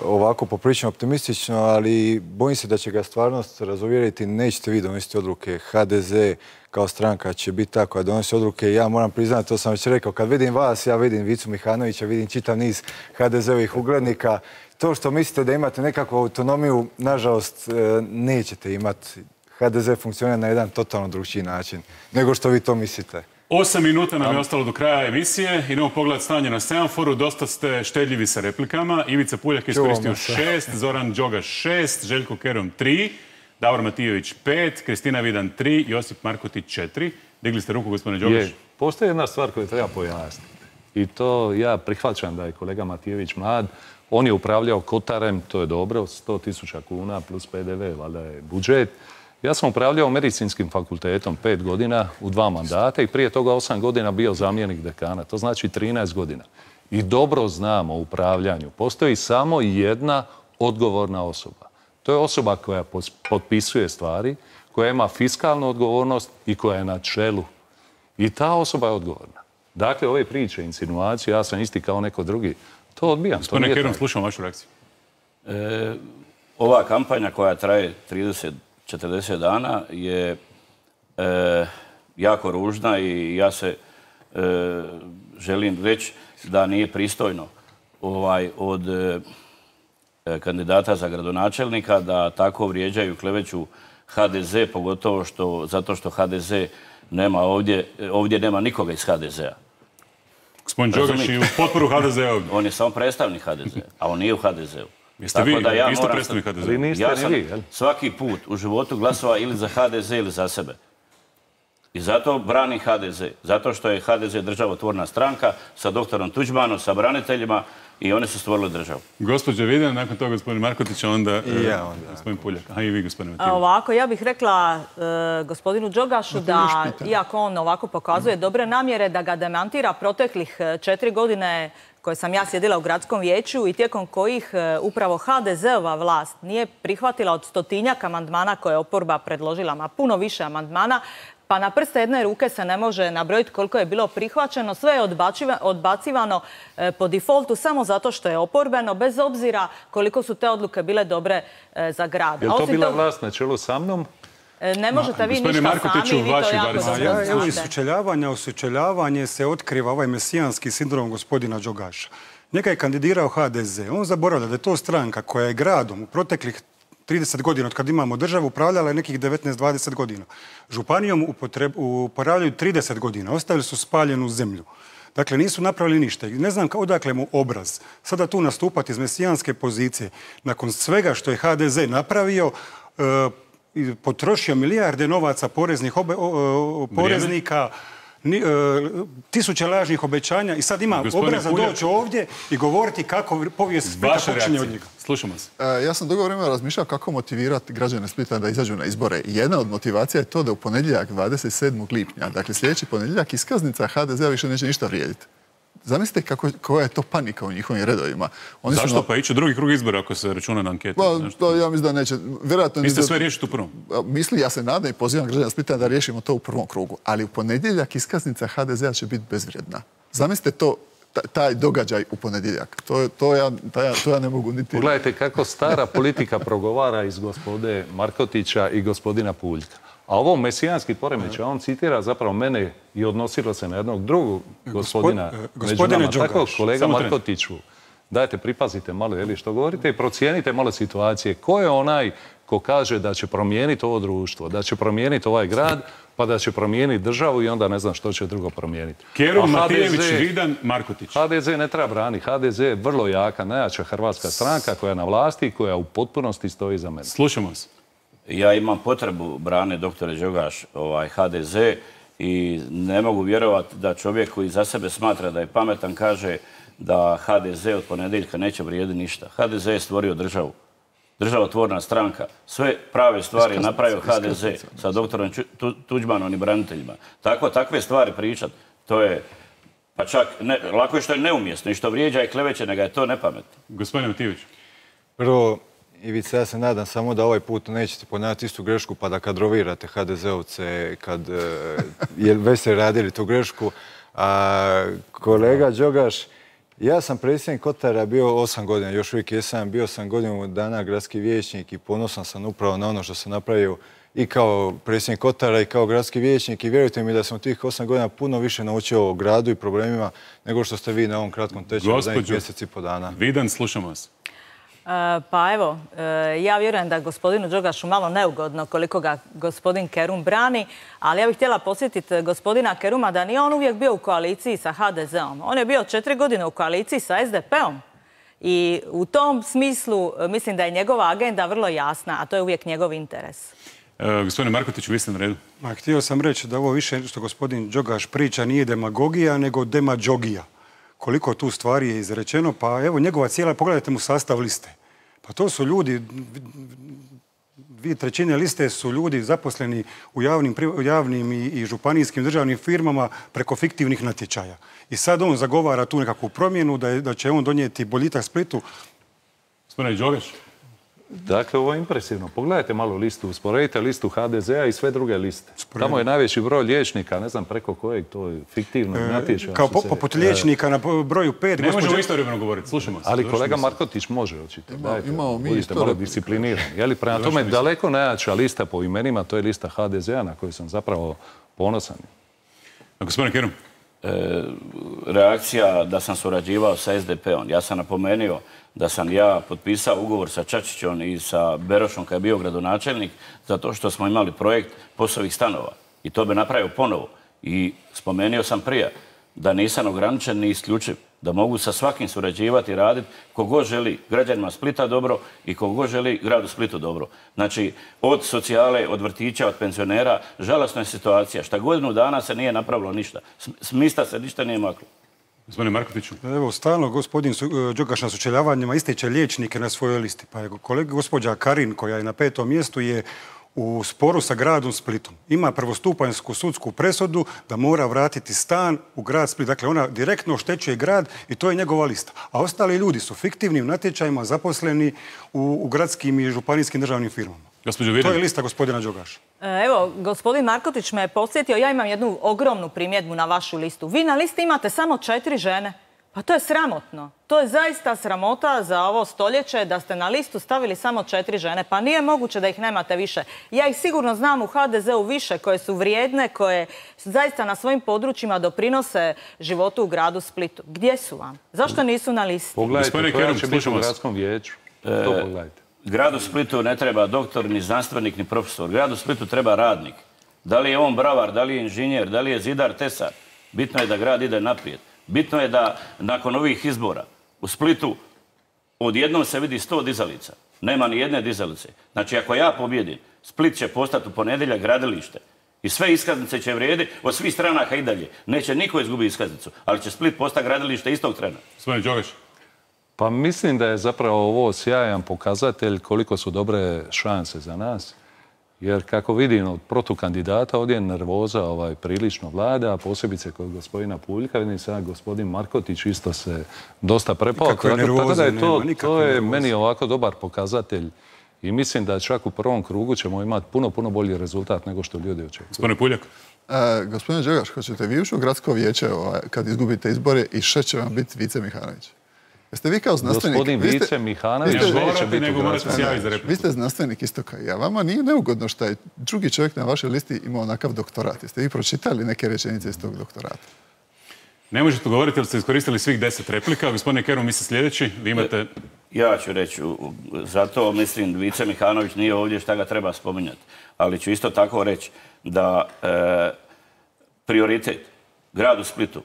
ovako poprilično optimistično, ali bojim se da će ga stvarnost razuvjeriti. Nećete vi donositi odluke. ha de ze kao stranka će biti ta koja donosi odluke. Ja moram priznati, to sam već rekao, kad vidim vas, ja vidim Vicu Mihanovića, vidim čitav niz ha de zeovih uglednika. To što mislite da imate nekakvu autonomiju, nažalost, nećete imati. ha de ze funkcionira na jedan totalno drugčiji način nego što vi to mislite. Osam minuta nam je ostalo do kraja emisije. Idemo pogledati stanje na semaforu. Dosta ste štedljivi sa replikama. Ivica Puljak je iskoristio šest, Zoran Đogaš šest, Željko Kerum tri, Davor Matijević pet, Kristina Vidan tri, Josip Markotić četiri. Digli ste ruku, gospodine Đogaš? Je. Postoji jedna stvar koju treba pojasniti. I to ja prihvaćam da je kolega Matijević mlad. On je upravljao Kotarem, to je dobro, sto tisuća kuna plus pe de ve, valjda je budžet. Ja sam upravljao medicinskim fakultetom pet godina u dva mandata i prije toga osam godina bio zamjenik dekana. To znači trinaest godina. I dobro znam o upravljanju. Postoji samo jedna odgovorna osoba. To je osoba koja potpisuje stvari, koja ima fiskalnu odgovornost i koja je na čelu. I ta osoba je odgovorna. Dakle, ove priče, insinuacije, ja sam isti kao neko drugi, to odbijam. Gospodine Kerum, slušam vašu reakciju. E, ova kampanja koja traje trideset četrdeset dana je e, jako ružna i ja se e, želim reći da nije pristojno ovaj, od e, kandidata za gradonačelnika da tako vrijeđaju, kleveću ha de ze, pogotovo što, zato što ha de ze nema ovdje, ovdje nema nikoga iz ha de zea. Gospodin Đogaš i u potporu ha de zea ovdje. On je samo predstavnik ha de zea, a on nije u ha de zeu. Jeste vi isto predstavnik ha de zea? Ja sam svaki put u životu glasovao ili za ha de ze ili za sebe. I zato branim ha de ze. Zato što je ha de ze državotvorna stranka sa doktorom Tuđmanom, sa braniteljima. i oni su stvorili državu. Gospođa Vidan, nakon toga gospodin Markotić, onda I ja onda. gospodin Puljak. A i vi, gospodine Matijević. Ovako, ja bih rekla e, gospodinu Đogašu da, iako on ovako pokazuje dobre namjere, da ga demantira proteklih četiri godine koje sam ja sjedila u gradskom vijeću i tijekom kojih e, upravo ha de zeova vlast nije prihvatila od stotinjak amandmana koje je oporba predložila, ma puno više amandmana, pa na prste jedne ruke se ne može nabrojiti koliko je bilo prihvaćeno. Sve je odbacivano po defaultu samo zato što je oporbeno, bez obzira koliko su te odluke bile dobre za grad. Je li to bila vlast na čelu sa mnom? Ne možete vi ništa sami i vi to jako dobro znate. Evo iz sučeljavanja u sučeljavanje se otkriva ovaj mesijanski sindrom gospodina Đogaša. Njega je kandidirao ha de ze. On zaboravlja da je to stranka koja je gradom u proteklih trideset godina od kad imamo državu upravljala je nekih devetnaest dvadeset godina. Županijom upravljaju trideset godina. Ostavili su spaljenu zemlju. Dakle, nisu napravili ništa. Ne znam odakle mu obraz. Sada tu nastupati iz mesijanske pozicije. Nakon svega što je ha de ze napravio, e, potrošio milijarde novaca poreznih obe, o, o, poreznika, ni, e, tisuće lažnih obećanja i sad ima Gospodine obraza Puljak, doći ovdje i govoriti kako povijest Splita počinje od njega. Slušamo se. E, ja sam dugo vremena razmišljao kako motivirati građane Splita da izađu na izbore. Jedna od motivacija je to da u ponedjeljak dvadeset sedmog lipnja, dakle sljedeći ponedjeljak, iskaznica ha de zea više neće ništa vrijediti. Zamislite kako, koja je to panika u njihovim redovima. Oni Zašto? Su na... Pa ići u drugi krug izbora ako se računa na anketu? Pa, to ja mislim da neće. Vjerojatno Niste sve riješiti u prvom? Misli, ja se nadam i pozivam građana Splita da riješimo to u prvom krugu. Ali u ponedjeljak iskaznica ha de zea će biti bezvrijedna. Zamislite to, taj događaj u ponedjeljak. To, to, ja, to ja ne mogu niti... Pogledajte kako stara politika progovara iz gospode Markotića i gospodina Puljka. A ovo mesijanski poremećaj, on citira zapravo mene i odnosilo se na jednog drugog gospodina među nama. Tako, kolega Markotiću, dajte, pripazite malo, je li što govorite i procijenite malo situacije. Ko je onaj ko kaže da će promijeniti ovo društvo, da će promijeniti ovaj grad, pa da će promijeniti državu i onda ne znam što će drugo promijeniti. Kerum, Matijević, Vidan, Markotić. ha de ze ne treba braniti. ha de ze je vrlo jaka, najjača hrvatska stranka koja je na vlasti i koja u potpunosti stoji za mene. Slušamo se. Ja imam potrebu brane doktore Đogaš ovaj, ha de ze i ne mogu vjerovati da čovjek koji za sebe smatra da je pametan kaže da ha de ze od ponedjeljka neće vrijediti ništa. ha de ze je stvorio državu. Državotvorna stranka. Sve prave stvari je napravio ha de ze sa doktorom Tuđmanom i braniteljima. Tako, takve stvari pričat, to je, pa čak, ne, lako je što je neumjesno i što vrijeđa i kleveće, nego je to nepametno. Gospodine Matijević. Prvo, Ivica, ja se nadam samo da ovaj put nećete ponavljati istu grešku pa da kadrovirate ha de zeovce kad je već ste radili tu grešku. A kolega Đogaš, ja sam predsjednik Kotara bio osam godina, još uvijek jesam, bio sam godinu dana gradski vijećnik i ponosan sam upravo na ono što sam napravio i kao predsjednik Kotara i kao gradski vijećnik i vjerujte mi da sam tih osam godina puno više naučio o gradu i problemima nego što ste vi na ovom kratkom tečaju za mjesec i po dana. Vidan, slušamo vas. Pa evo, ja vjerujem da gospodinu Đogašu malo neugodno koliko ga gospodin Kerum brani, ali ja bih htjela posjetiti gospodina Keruma da nije on uvijek bio u koaliciji sa ha de zeom. On je bio četiri godine u koaliciji sa es de peom. I u tom smislu mislim da je njegova agenda vrlo jasna, a to je uvijek njegov interes. E, gospodine Markotiću, vi ste na redu. Ma, htio sam reći da ovo više što gospodin Đogaš priča nije demagogija, nego demađogija. Koliko tu stvari je izrečeno, pa evo njegova cijela, pogledajte mu sastav liste. Pa to su ljudi, dvije trećine liste su ljudi zaposleni u javnim, javnim i, i županijskim državnim firmama preko fiktivnih natječaja. I sad on zagovara tu nekakvu promjenu da, je, da će on donijeti boljitak Splitu. Gospodine Đogaš. Dakle, ovo je impresivno. Pogledajte malo listu, usporedite listu ha de zea i sve druge liste. Sporedite. Tamo je najveći broj liječnika, ne znam preko kojeg to je fiktivno e, natječaja. Kao po, se, poput liječnika e, na broju pet. Ne gospođa... možemo istovremeno govoriti, slušamo se. Ali kolega Markotić može očito. Ima, imamo mi budite malo disciplinirani. Jeli, prema tome, daleko najjača lista po imenima, to je lista ha de zea na koju sam zapravo ponosan. A gospodine Kerum? E, reakcija da sam surađivao sa es de peom. Ja sam napomenuo da sam ja potpisao ugovor sa Čačićom i sa Berošom kad je bio gradonačelnik zato što smo imali projekt POS-ovih stanova. I to bi napravio ponovo. I spomenuo sam prije da nisam ograničen ni isključiv. Da mogu sa svakim surađivati i raditi kogod želi građanima Splita dobro i kogod želi gradu Splitu dobro. Znači, od socijale, od vrtića, od penzionera, žalosna je situacija. Šta godinu dana se nije napravilo ništa. S mista se ništa nije maklo. Gospodine Markotiću. Evo, stalno gospodin Đogaš na sučeljavanjima ističe liječnike na svojoj listi. Pa je kolega gospođa Karin, koja je na petom mjestu, je u sporu sa gradom Splitom. Ima prvostupanjsku sudsku presudu da mora vratiti stan u grad Split. Dakle, ona direktno oštećuje grad i to je njegova lista. A ostali ljudi su fiktivnim natječajima zaposleni u, u gradskim i županijskim državnim firmama. To je lista gospodina Đogaša. Evo, gospodin Markotić me je podsjetio, ja imam jednu ogromnu primjedbu na vašu listu. Vi na listi imate samo četiri žene. Pa to je sramotno. To je zaista sramota za ovo stoljeće da ste na listu stavili samo četiri žene. Pa nije moguće da ih nemate više. Ja ih sigurno znam u ha de zeu više, koje su vrijedne, koje zaista na svojim područjima doprinose životu u gradu Splitu. Gdje su vam? Zašto nisu na listi? Pogledajte, koja će biti u gradskom vijeću. To pogledajte. Gradu Splitu ne treba doktor, ni znanstvenik, ni profesor. Gradu Splitu treba radnik. Da li je on bravar, da li je inženjer, da li je zidar, tesar. Bitno je da grad ide naprijed. Bitno je da nakon ovih izbora u Splitu odjednom se vidi sto dizalica. Nema ni jedne dizalice. Znači, ako ja pobjedim, Split će postati u ponedjeljak gradilište. I sve iskaznice će vrijedi od svih stranaka i dalje. Neće niko izgubiti iskaznicu, ali će Split postati gradilište istog trena. Gospodin Đogaš. Pa mislim da je zapravo ovo sjajan pokazatelj koliko su dobre šanse za nas. Jer kako vidim od protukandidata ovdje je nervoza ovaj, prilično vlada, a posebice kod gospodina Puljka, vidim sad gospodin Markotić isto se dosta prepao. Tako, tako da je to, to je meni ovako dobar pokazatelj i mislim da čak u prvom krugu ćemo imati puno, puno bolji rezultat nego što ljudi očekuju. Gospodine Puljak. E, gospodine Đogaš, hoćete vi ući u gradsko vijeće ovaj, kad izgubite izbore i še će vam biti Vice Mihanović? Jeste vi kao znanstvenik... Gospodin Vice Mihanović neće biti u gradskom vijeću. Vi ste znanstvenik isto kao i ja. Vama nije neugodno što je drugi čovjek na vašoj listi imao onakav doktorat. Jeste vi pročitali neke rečenice iz tog doktorata? Ne možete govoriti jer ste iskoristili svih deset replika. Gospodine Kerum, mi se sljedeći. Vi imate... Ja ću reći, zato mislim Vice Mihanović nije ovdje šta ga treba spominjati. Ali ću isto tako reći da e, prioritet gradu Splitu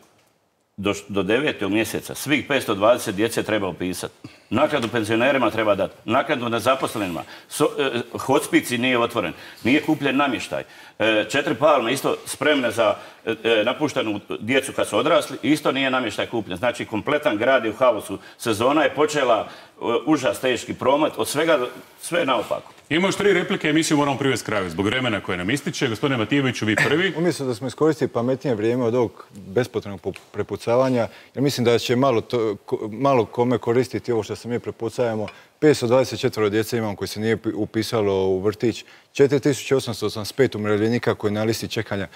Do, do devetog mjeseca svih petsto dvadeset djece treba upisati. Naknadu penzionerima treba dati. Naknadu nezaposlenima. So, e, hospici nije otvoren. Nije kupljen namještaj. E, četiri palme isto spremne za e, napuštenu djecu kad su odrasli. Isto nije namještaj kupljen. Znači kompletan grad je u haosu. Sezona je počela e, užas teški promet. Od svega sve naopako. Imamo još tri replike, emisiju moramo privesti kraju zbog vremena koje nam ističe. Gospodine Matijeviću, vi prvi. Umjesto da smo iskoristili pametnije vrijeme od ovog bespotrebnog prepucavanja, ja mislim da će malo, to, malo kome koristiti ovo što se mi prepucavamo. petsto dvadeset četiri djece imamo koji se nije upisalo u vrtić, četiri tisuće osamsto osamdeset pet umirovljenika koji je na listi čekanja.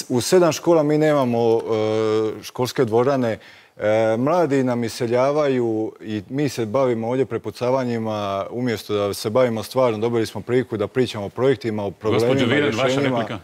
U sedam škola mi nemamo uh, školske dvorane. E, mladi nam iseljavaju i mi se bavimo ovdje prepucavanjima umjesto da se bavimo stvarno. Dobili smo priliku da pričamo o projektima, o problemima, Gospođo Viren, rješenjima. vaša replika.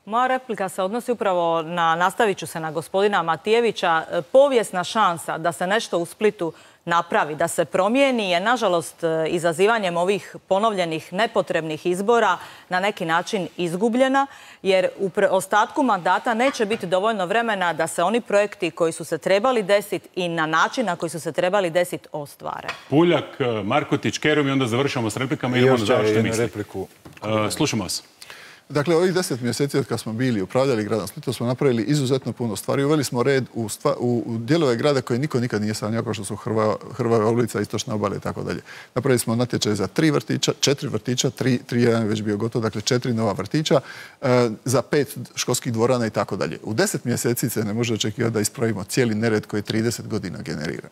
Moja replika se odnosi upravo na, nastavit ću se na gospodina Matijevića, povijesna šansa da se nešto u Splitu napravi, da se promijeni je, nažalost, izazivanjem ovih ponovljenih nepotrebnih izbora na neki način izgubljena, jer u ostatku mandata neće biti dovoljno vremena da se oni projekti koji su se trebali desiti i na način na koji su se trebali desiti ostvare. Puljak, Markotić, Kerum i onda završamo s replikama i idemo na završnu misli. Slušamo vas. Dakle, ovih deset mjeseci od kad smo bili upravljali gradom Splitom smo napravili izuzetno puno stvari. Uveli smo red u, stva, u, u dijelove grada koje niko nikad nije sanjao, kao što su Hrva, Hrvava ulica, Istočna obala i tako dalje. Napravili smo natječaj za tri vrtića, četiri vrtića, tri, tri jedan je već bio gotov, dakle četiri nova vrtića, e, za pet školskih dvorana i tako dalje. U deset mjeseci se ne može očekivati da ispravimo cijeli nered koji trideset godina generira.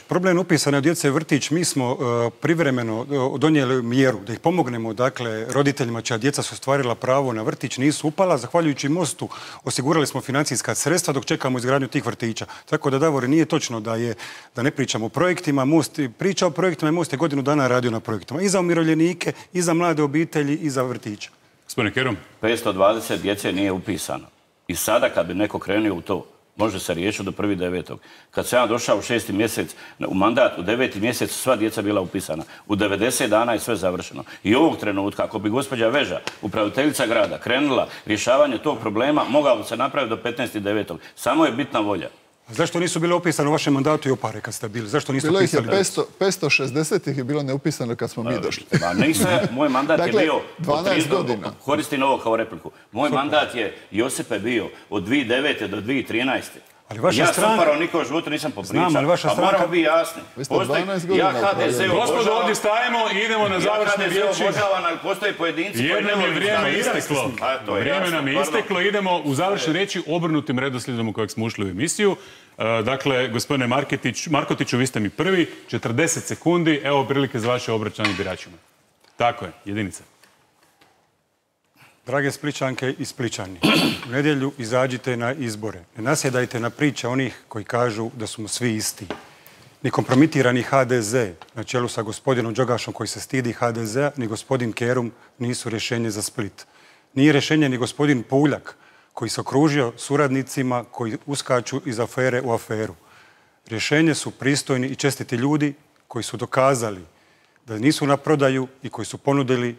Problem upisane djece vrtić, mi smo uh, privremeno uh, donijeli mjeru da ih pomognemo, dakle, roditeljima čija djeca su ostvarila pravo na vrtić, nisu upala. Zahvaljujući mostu osigurali smo financijska sredstva dok čekamo izgradnju tih vrtića. Tako da, Davore, nije točno da, je, da ne pričamo o projektima. Most priča o projektima i Most je godinu dana radio na projektima. I za umirovljenike, i za mlade obitelji, i za vrtiće. Gospodine Kerum. petsto dvadeset djece nije upisano. I sada kad bi neko krenuo u to, može se riješiti do prvi devetog. Kad sam ja došao u šesti mjesec, u mandat, u deveti mjesec, sva djeca bila upisana. U devedeset dana je sve završeno. I ovog trenutka, ako bi gospođa Veža, upraviteljica grada, krenula rješavanje tog problema, mogao se napraviti do petnaestog devetog. Samo je bitna volja. A zašto nisu bile upisane u vašem mandatu i opare kad ste bili? Zašto niste bilo upisali? Bilo ih je petsto šezdeset ih je bilo neupisano kad smo mi došli. Ma nisam, moj mandat dakle, je bio... dvanaest godina. Koristim ovo kao repliku. Moj mandat je, Josipe, bio od dvije tisuće devete do dvije tisuće trinaeste. Ali vaša ja stranka... sam upravo niko u životu nisam popričao. Znam, ali vaša a stranka... moramo biti jasni. Postoji... Ja H D Z obožavam... Gospodo, ovdje stajemo i idemo na završne riječi. Ja H D Z obožavam, ali postoje pojedinci koji ne Jednom je voli vrijeme staviti. isteklo. A, to je Vrijeme jasno, nam je pardon. isteklo. Idemo u završne riječi obrnutim redoslijedom u kojeg smo ušli u emisiju. E, Dakle, gospodine Marketić, Markotiću, vi ste mi prvi. četrdeset sekundi. Evo prilike za vaše obraćanje biračima. Tako je, jedinica. Drage Splićanke i Splićani, u nedjelju izađite na izbore. Ne nasjedajte na priče onih koji kažu da smo svi isti. Ni kompromitirani H D Z na čelu sa gospodinom Đogašom koji se stidi H D Z-a, ni gospodin Kerum nisu rješenje za Split. Nije rješenje ni gospodin Puljak koji se okružio suradnicima koji uskaču iz afere u aferu. Rješenje su pristojni i čestiti ljudi koji su dokazali da nisu na prodaju i koji su ponudili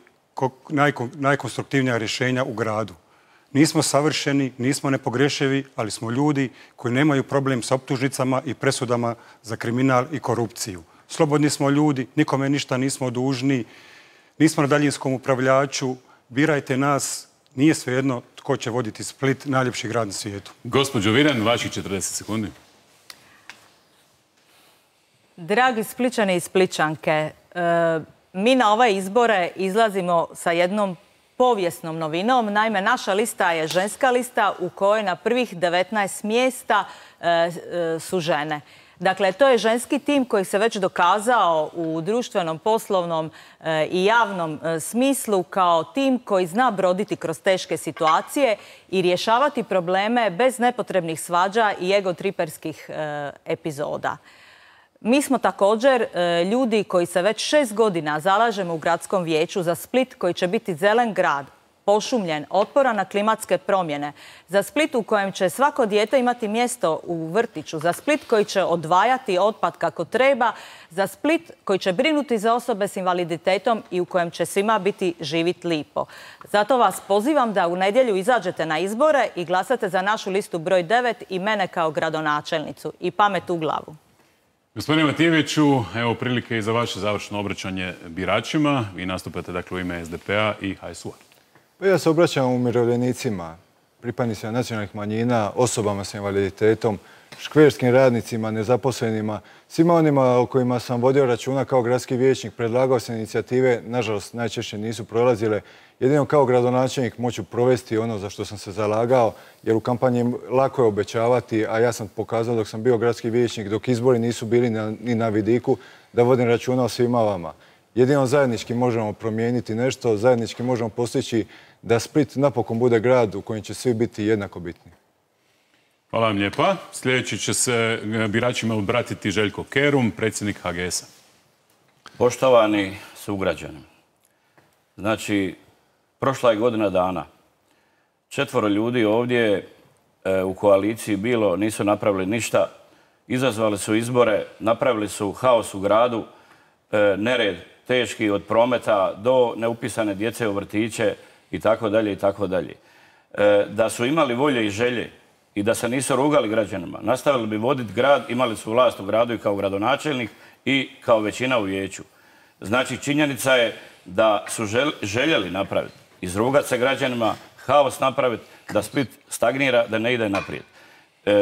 najkonstruktivnija rješenja u gradu. Nismo savršeni, nismo nepogrešivi, ali smo ljudi koji nemaju problem sa optužnicama i presudama za kriminal i korupciju. Slobodni smo ljudi, nikome ništa nismo dužni, nismo na daljinskom upravljaču, birajte nas, nije svejedno tko će voditi Split, najljepši grad na svijetu. Gospođo Viran, vaših četrdeset sekundi. Dragi Splićani i Splićanke, mi na ove izbore izlazimo sa jednom povijesnom novinom. Naime, naša lista je ženska lista u kojoj na prvih devetnaest mjesta su žene. Dakle, to je ženski tim koji se već dokazao u društvenom, poslovnom i javnom smislu kao tim koji zna broditi kroz teške situacije i rješavati probleme bez nepotrebnih svađa i egotriperskih epizoda. Mi smo također ljudi koji se već šest godina zalažemo u gradskom vijeću za Split koji će biti zelen grad, pošumljen, otporan na klimatske promjene. Za Split u kojem će svako dijete imati mjesto u vrtiću. Za Split koji će odvajati otpad kako treba. Za Split koji će brinuti za osobe s invaliditetom i u kojem će svima biti živit lipo. Zato vas pozivam da u nedjelju izađete na izbore i glasate za našu listu broj devet i mene kao gradonačelnicu. I pamet u glavu. Gospodine Matijeviću, evo prilike i za vaše završno obraćanje biračima. Vi nastupate dakle u ime S D P-a i H S U-a. Pa ja se obraćam umirovljenicima, pripadnicima nacionalnih manjina, osobama s invaliditetom, škverskim radnicima, nezaposlenima, svima onima o kojima sam vodio računa kao gradski vijećnik, predlagao se inicijative, nažalost najčešće nisu prolazile. Jedino kao gradonačelnik moću provesti ono za što sam se zalagao, jer u kampanji lako je obećavati, a ja sam pokazao dok sam bio gradski vijećnik, dok izbori nisu bili ni na vidiku, da vodim računa o svima vama. Jedino zajednički možemo promijeniti nešto, zajednički možemo postići da Split napokon bude grad u kojem će svi biti jednako bitni. Hvala vam lijepa. Sljedeći će se biračima obratiti Željko Kerum, predsjednik H G S-a. Poštovani sugrađani, znači, prošla je godina dana. Četvoro ljudi ovdje u koaliciji bilo, nisu napravili ništa, izazvali su izbore, napravili su haos u gradu, nered teški od prometa do neupisane djece u vrtiće i tako dalje i tako dalje. Da su imali volje i želje i da se nisu rugali građanima, nastavili bi voditi grad, imali su vlast u gradu i kao gradonačelnik i kao većina u vijeću. Znači, činjenica je da su željeli napraviti, izrugati se građanima, haos napraviti, da Split stagnira, da ne ide naprijed.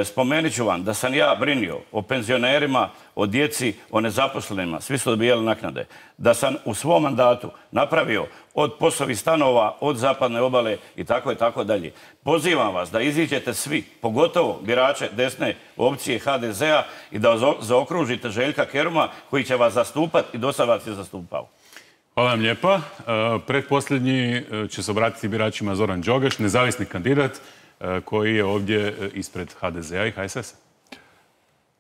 Spomenut ću vam da sam ja brinio o penzionerima, o djeci, o nezaposlenima, svi su dobijali naknade. Da sam u svom mandatu napravio od POS-ovih stanova, od zapadne obale i tako i tako dalje. Pozivam vas da iziđete svi, pogotovo birače desne opcije H D Z-a i da zaokružite Željka Keruma koji će vas zastupati i do sada vas je zastupao. Hvala vam lijepa. Pretposljednji će se obratiti biračima Zoran Đogaš, nezavisni kandidat koji je ovdje ispred H D Z-a i H S S-a.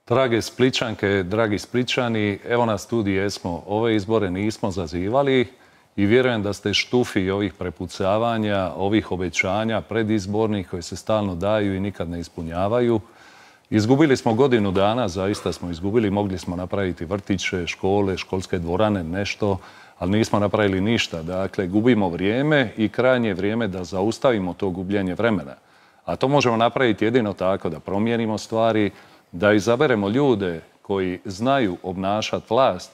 Drage Splićanke, dragi Splićani, evo nas tu gdje jesmo. Ove izbore nismo zazivali i vjerujem da ste štufi ovih prepucavanja, ovih obećanja predizbornih koji se stalno daju i nikad ne ispunjavaju. Izgubili smo godinu dana, zaista smo izgubili, mogli smo napraviti vrtiće, škole, školske dvorane, nešto, ali nismo napravili ništa. Dakle, gubimo vrijeme i krajnje je vrijeme da zaustavimo to gubljenje vremena. A to možemo napraviti jedino tako da promijenimo stvari, da izaberemo ljude koji znaju obnašati vlast.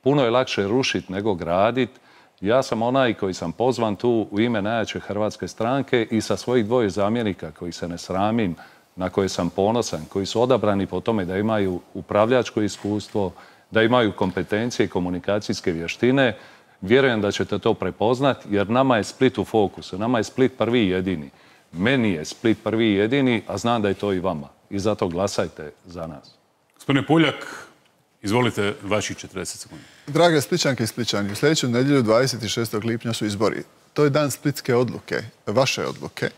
Puno je lakše rušiti nego graditi. Ja sam onaj koji sam pozvan tu u ime najjače hrvatske stranke i sa svojih dvoje zamjenika koji se ne sramim na koje sam ponosan, koji su odabrani po tome da imaju upravljačko iskustvo, da imaju kompetencije i komunikacijske vještine, vjerujem da ćete to prepoznati, jer nama je Split u fokusu, nama je Split prvi i jedini. Meni je Split prvi i jedini, a znam da je to i vama. I zato glasajte za nas. Gospodine Puljak, izvolite vaših četrdeset sekundi. Drage Splićanke i Splićani, u sljedeću nedjelju dvadeset šestog lipnja su izbori. To je dan splitske odluke, vaše odluke.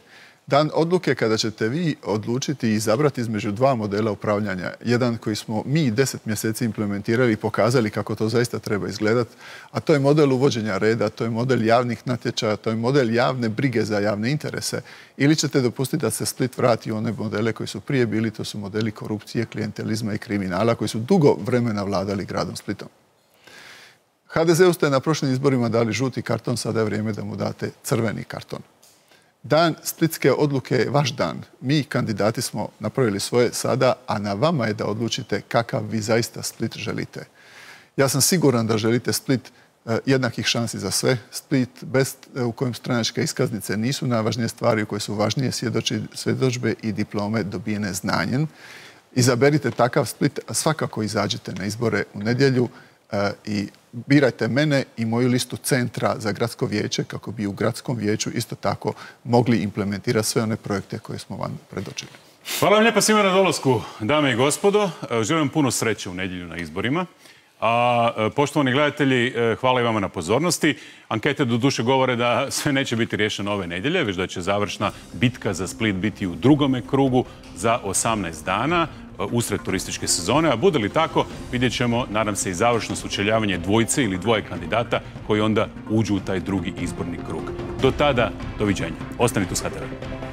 Dan odluke kada ćete vi odlučiti i izabrati između dva modela upravljanja. Jedan koji smo mi deset mjeseci implementirali i pokazali kako to zaista treba izgledati, a to je model uvođenja reda, to je model javnih natječaja, to je model javne brige za javne interese. Ili ćete dopustiti da se Split vrati u one modele koji su prije bili, to su modeli korupcije, klijentelizma i kriminala koji su dugo vremena vladali gradom Splitom. ha de zeu ste na prošlim izborima dali žuti karton, sada je vrijeme da mu date crveni karton. Dan splitske odluke je vaš dan. Mi, kandidati, smo napravili svoje sada, a na vama je da odlučite kakav vi zaista Split želite. Ja sam siguran da želite Split jednakih šansi za sve. Split bez, u kojem stranačke iskaznice nisu najvažnije stvari, u koje su važnije svjedodžbe i diplome dobijene znanjem. Izaberite takav Split, a svakako izađite na izbore u nedjelju i birajte mene i moju listu centra za gradsko vijeće kako bi u gradskom vijeću isto tako mogli implementirati sve one projekte koje smo vam predočili. Hvala vam lijepa svima na dolasku, dame i gospodo. Želim puno sreće u nedjelju na izborima. A poštovani gledatelji, hvala i vama na pozornosti. Ankete do duše govore da sve neće biti riješeno ove nedjelje, već da će završna bitka za Split biti u drugome krugu za osamnaest dana usred turističke sezone, a bude li tako, vidjet ćemo, nadam se, i završno sučeljavanje dvojice ili dvoje kandidata koji onda uđu u taj drugi izborni krug. Do tada, doviđenja. Ostanite uz ha te ve.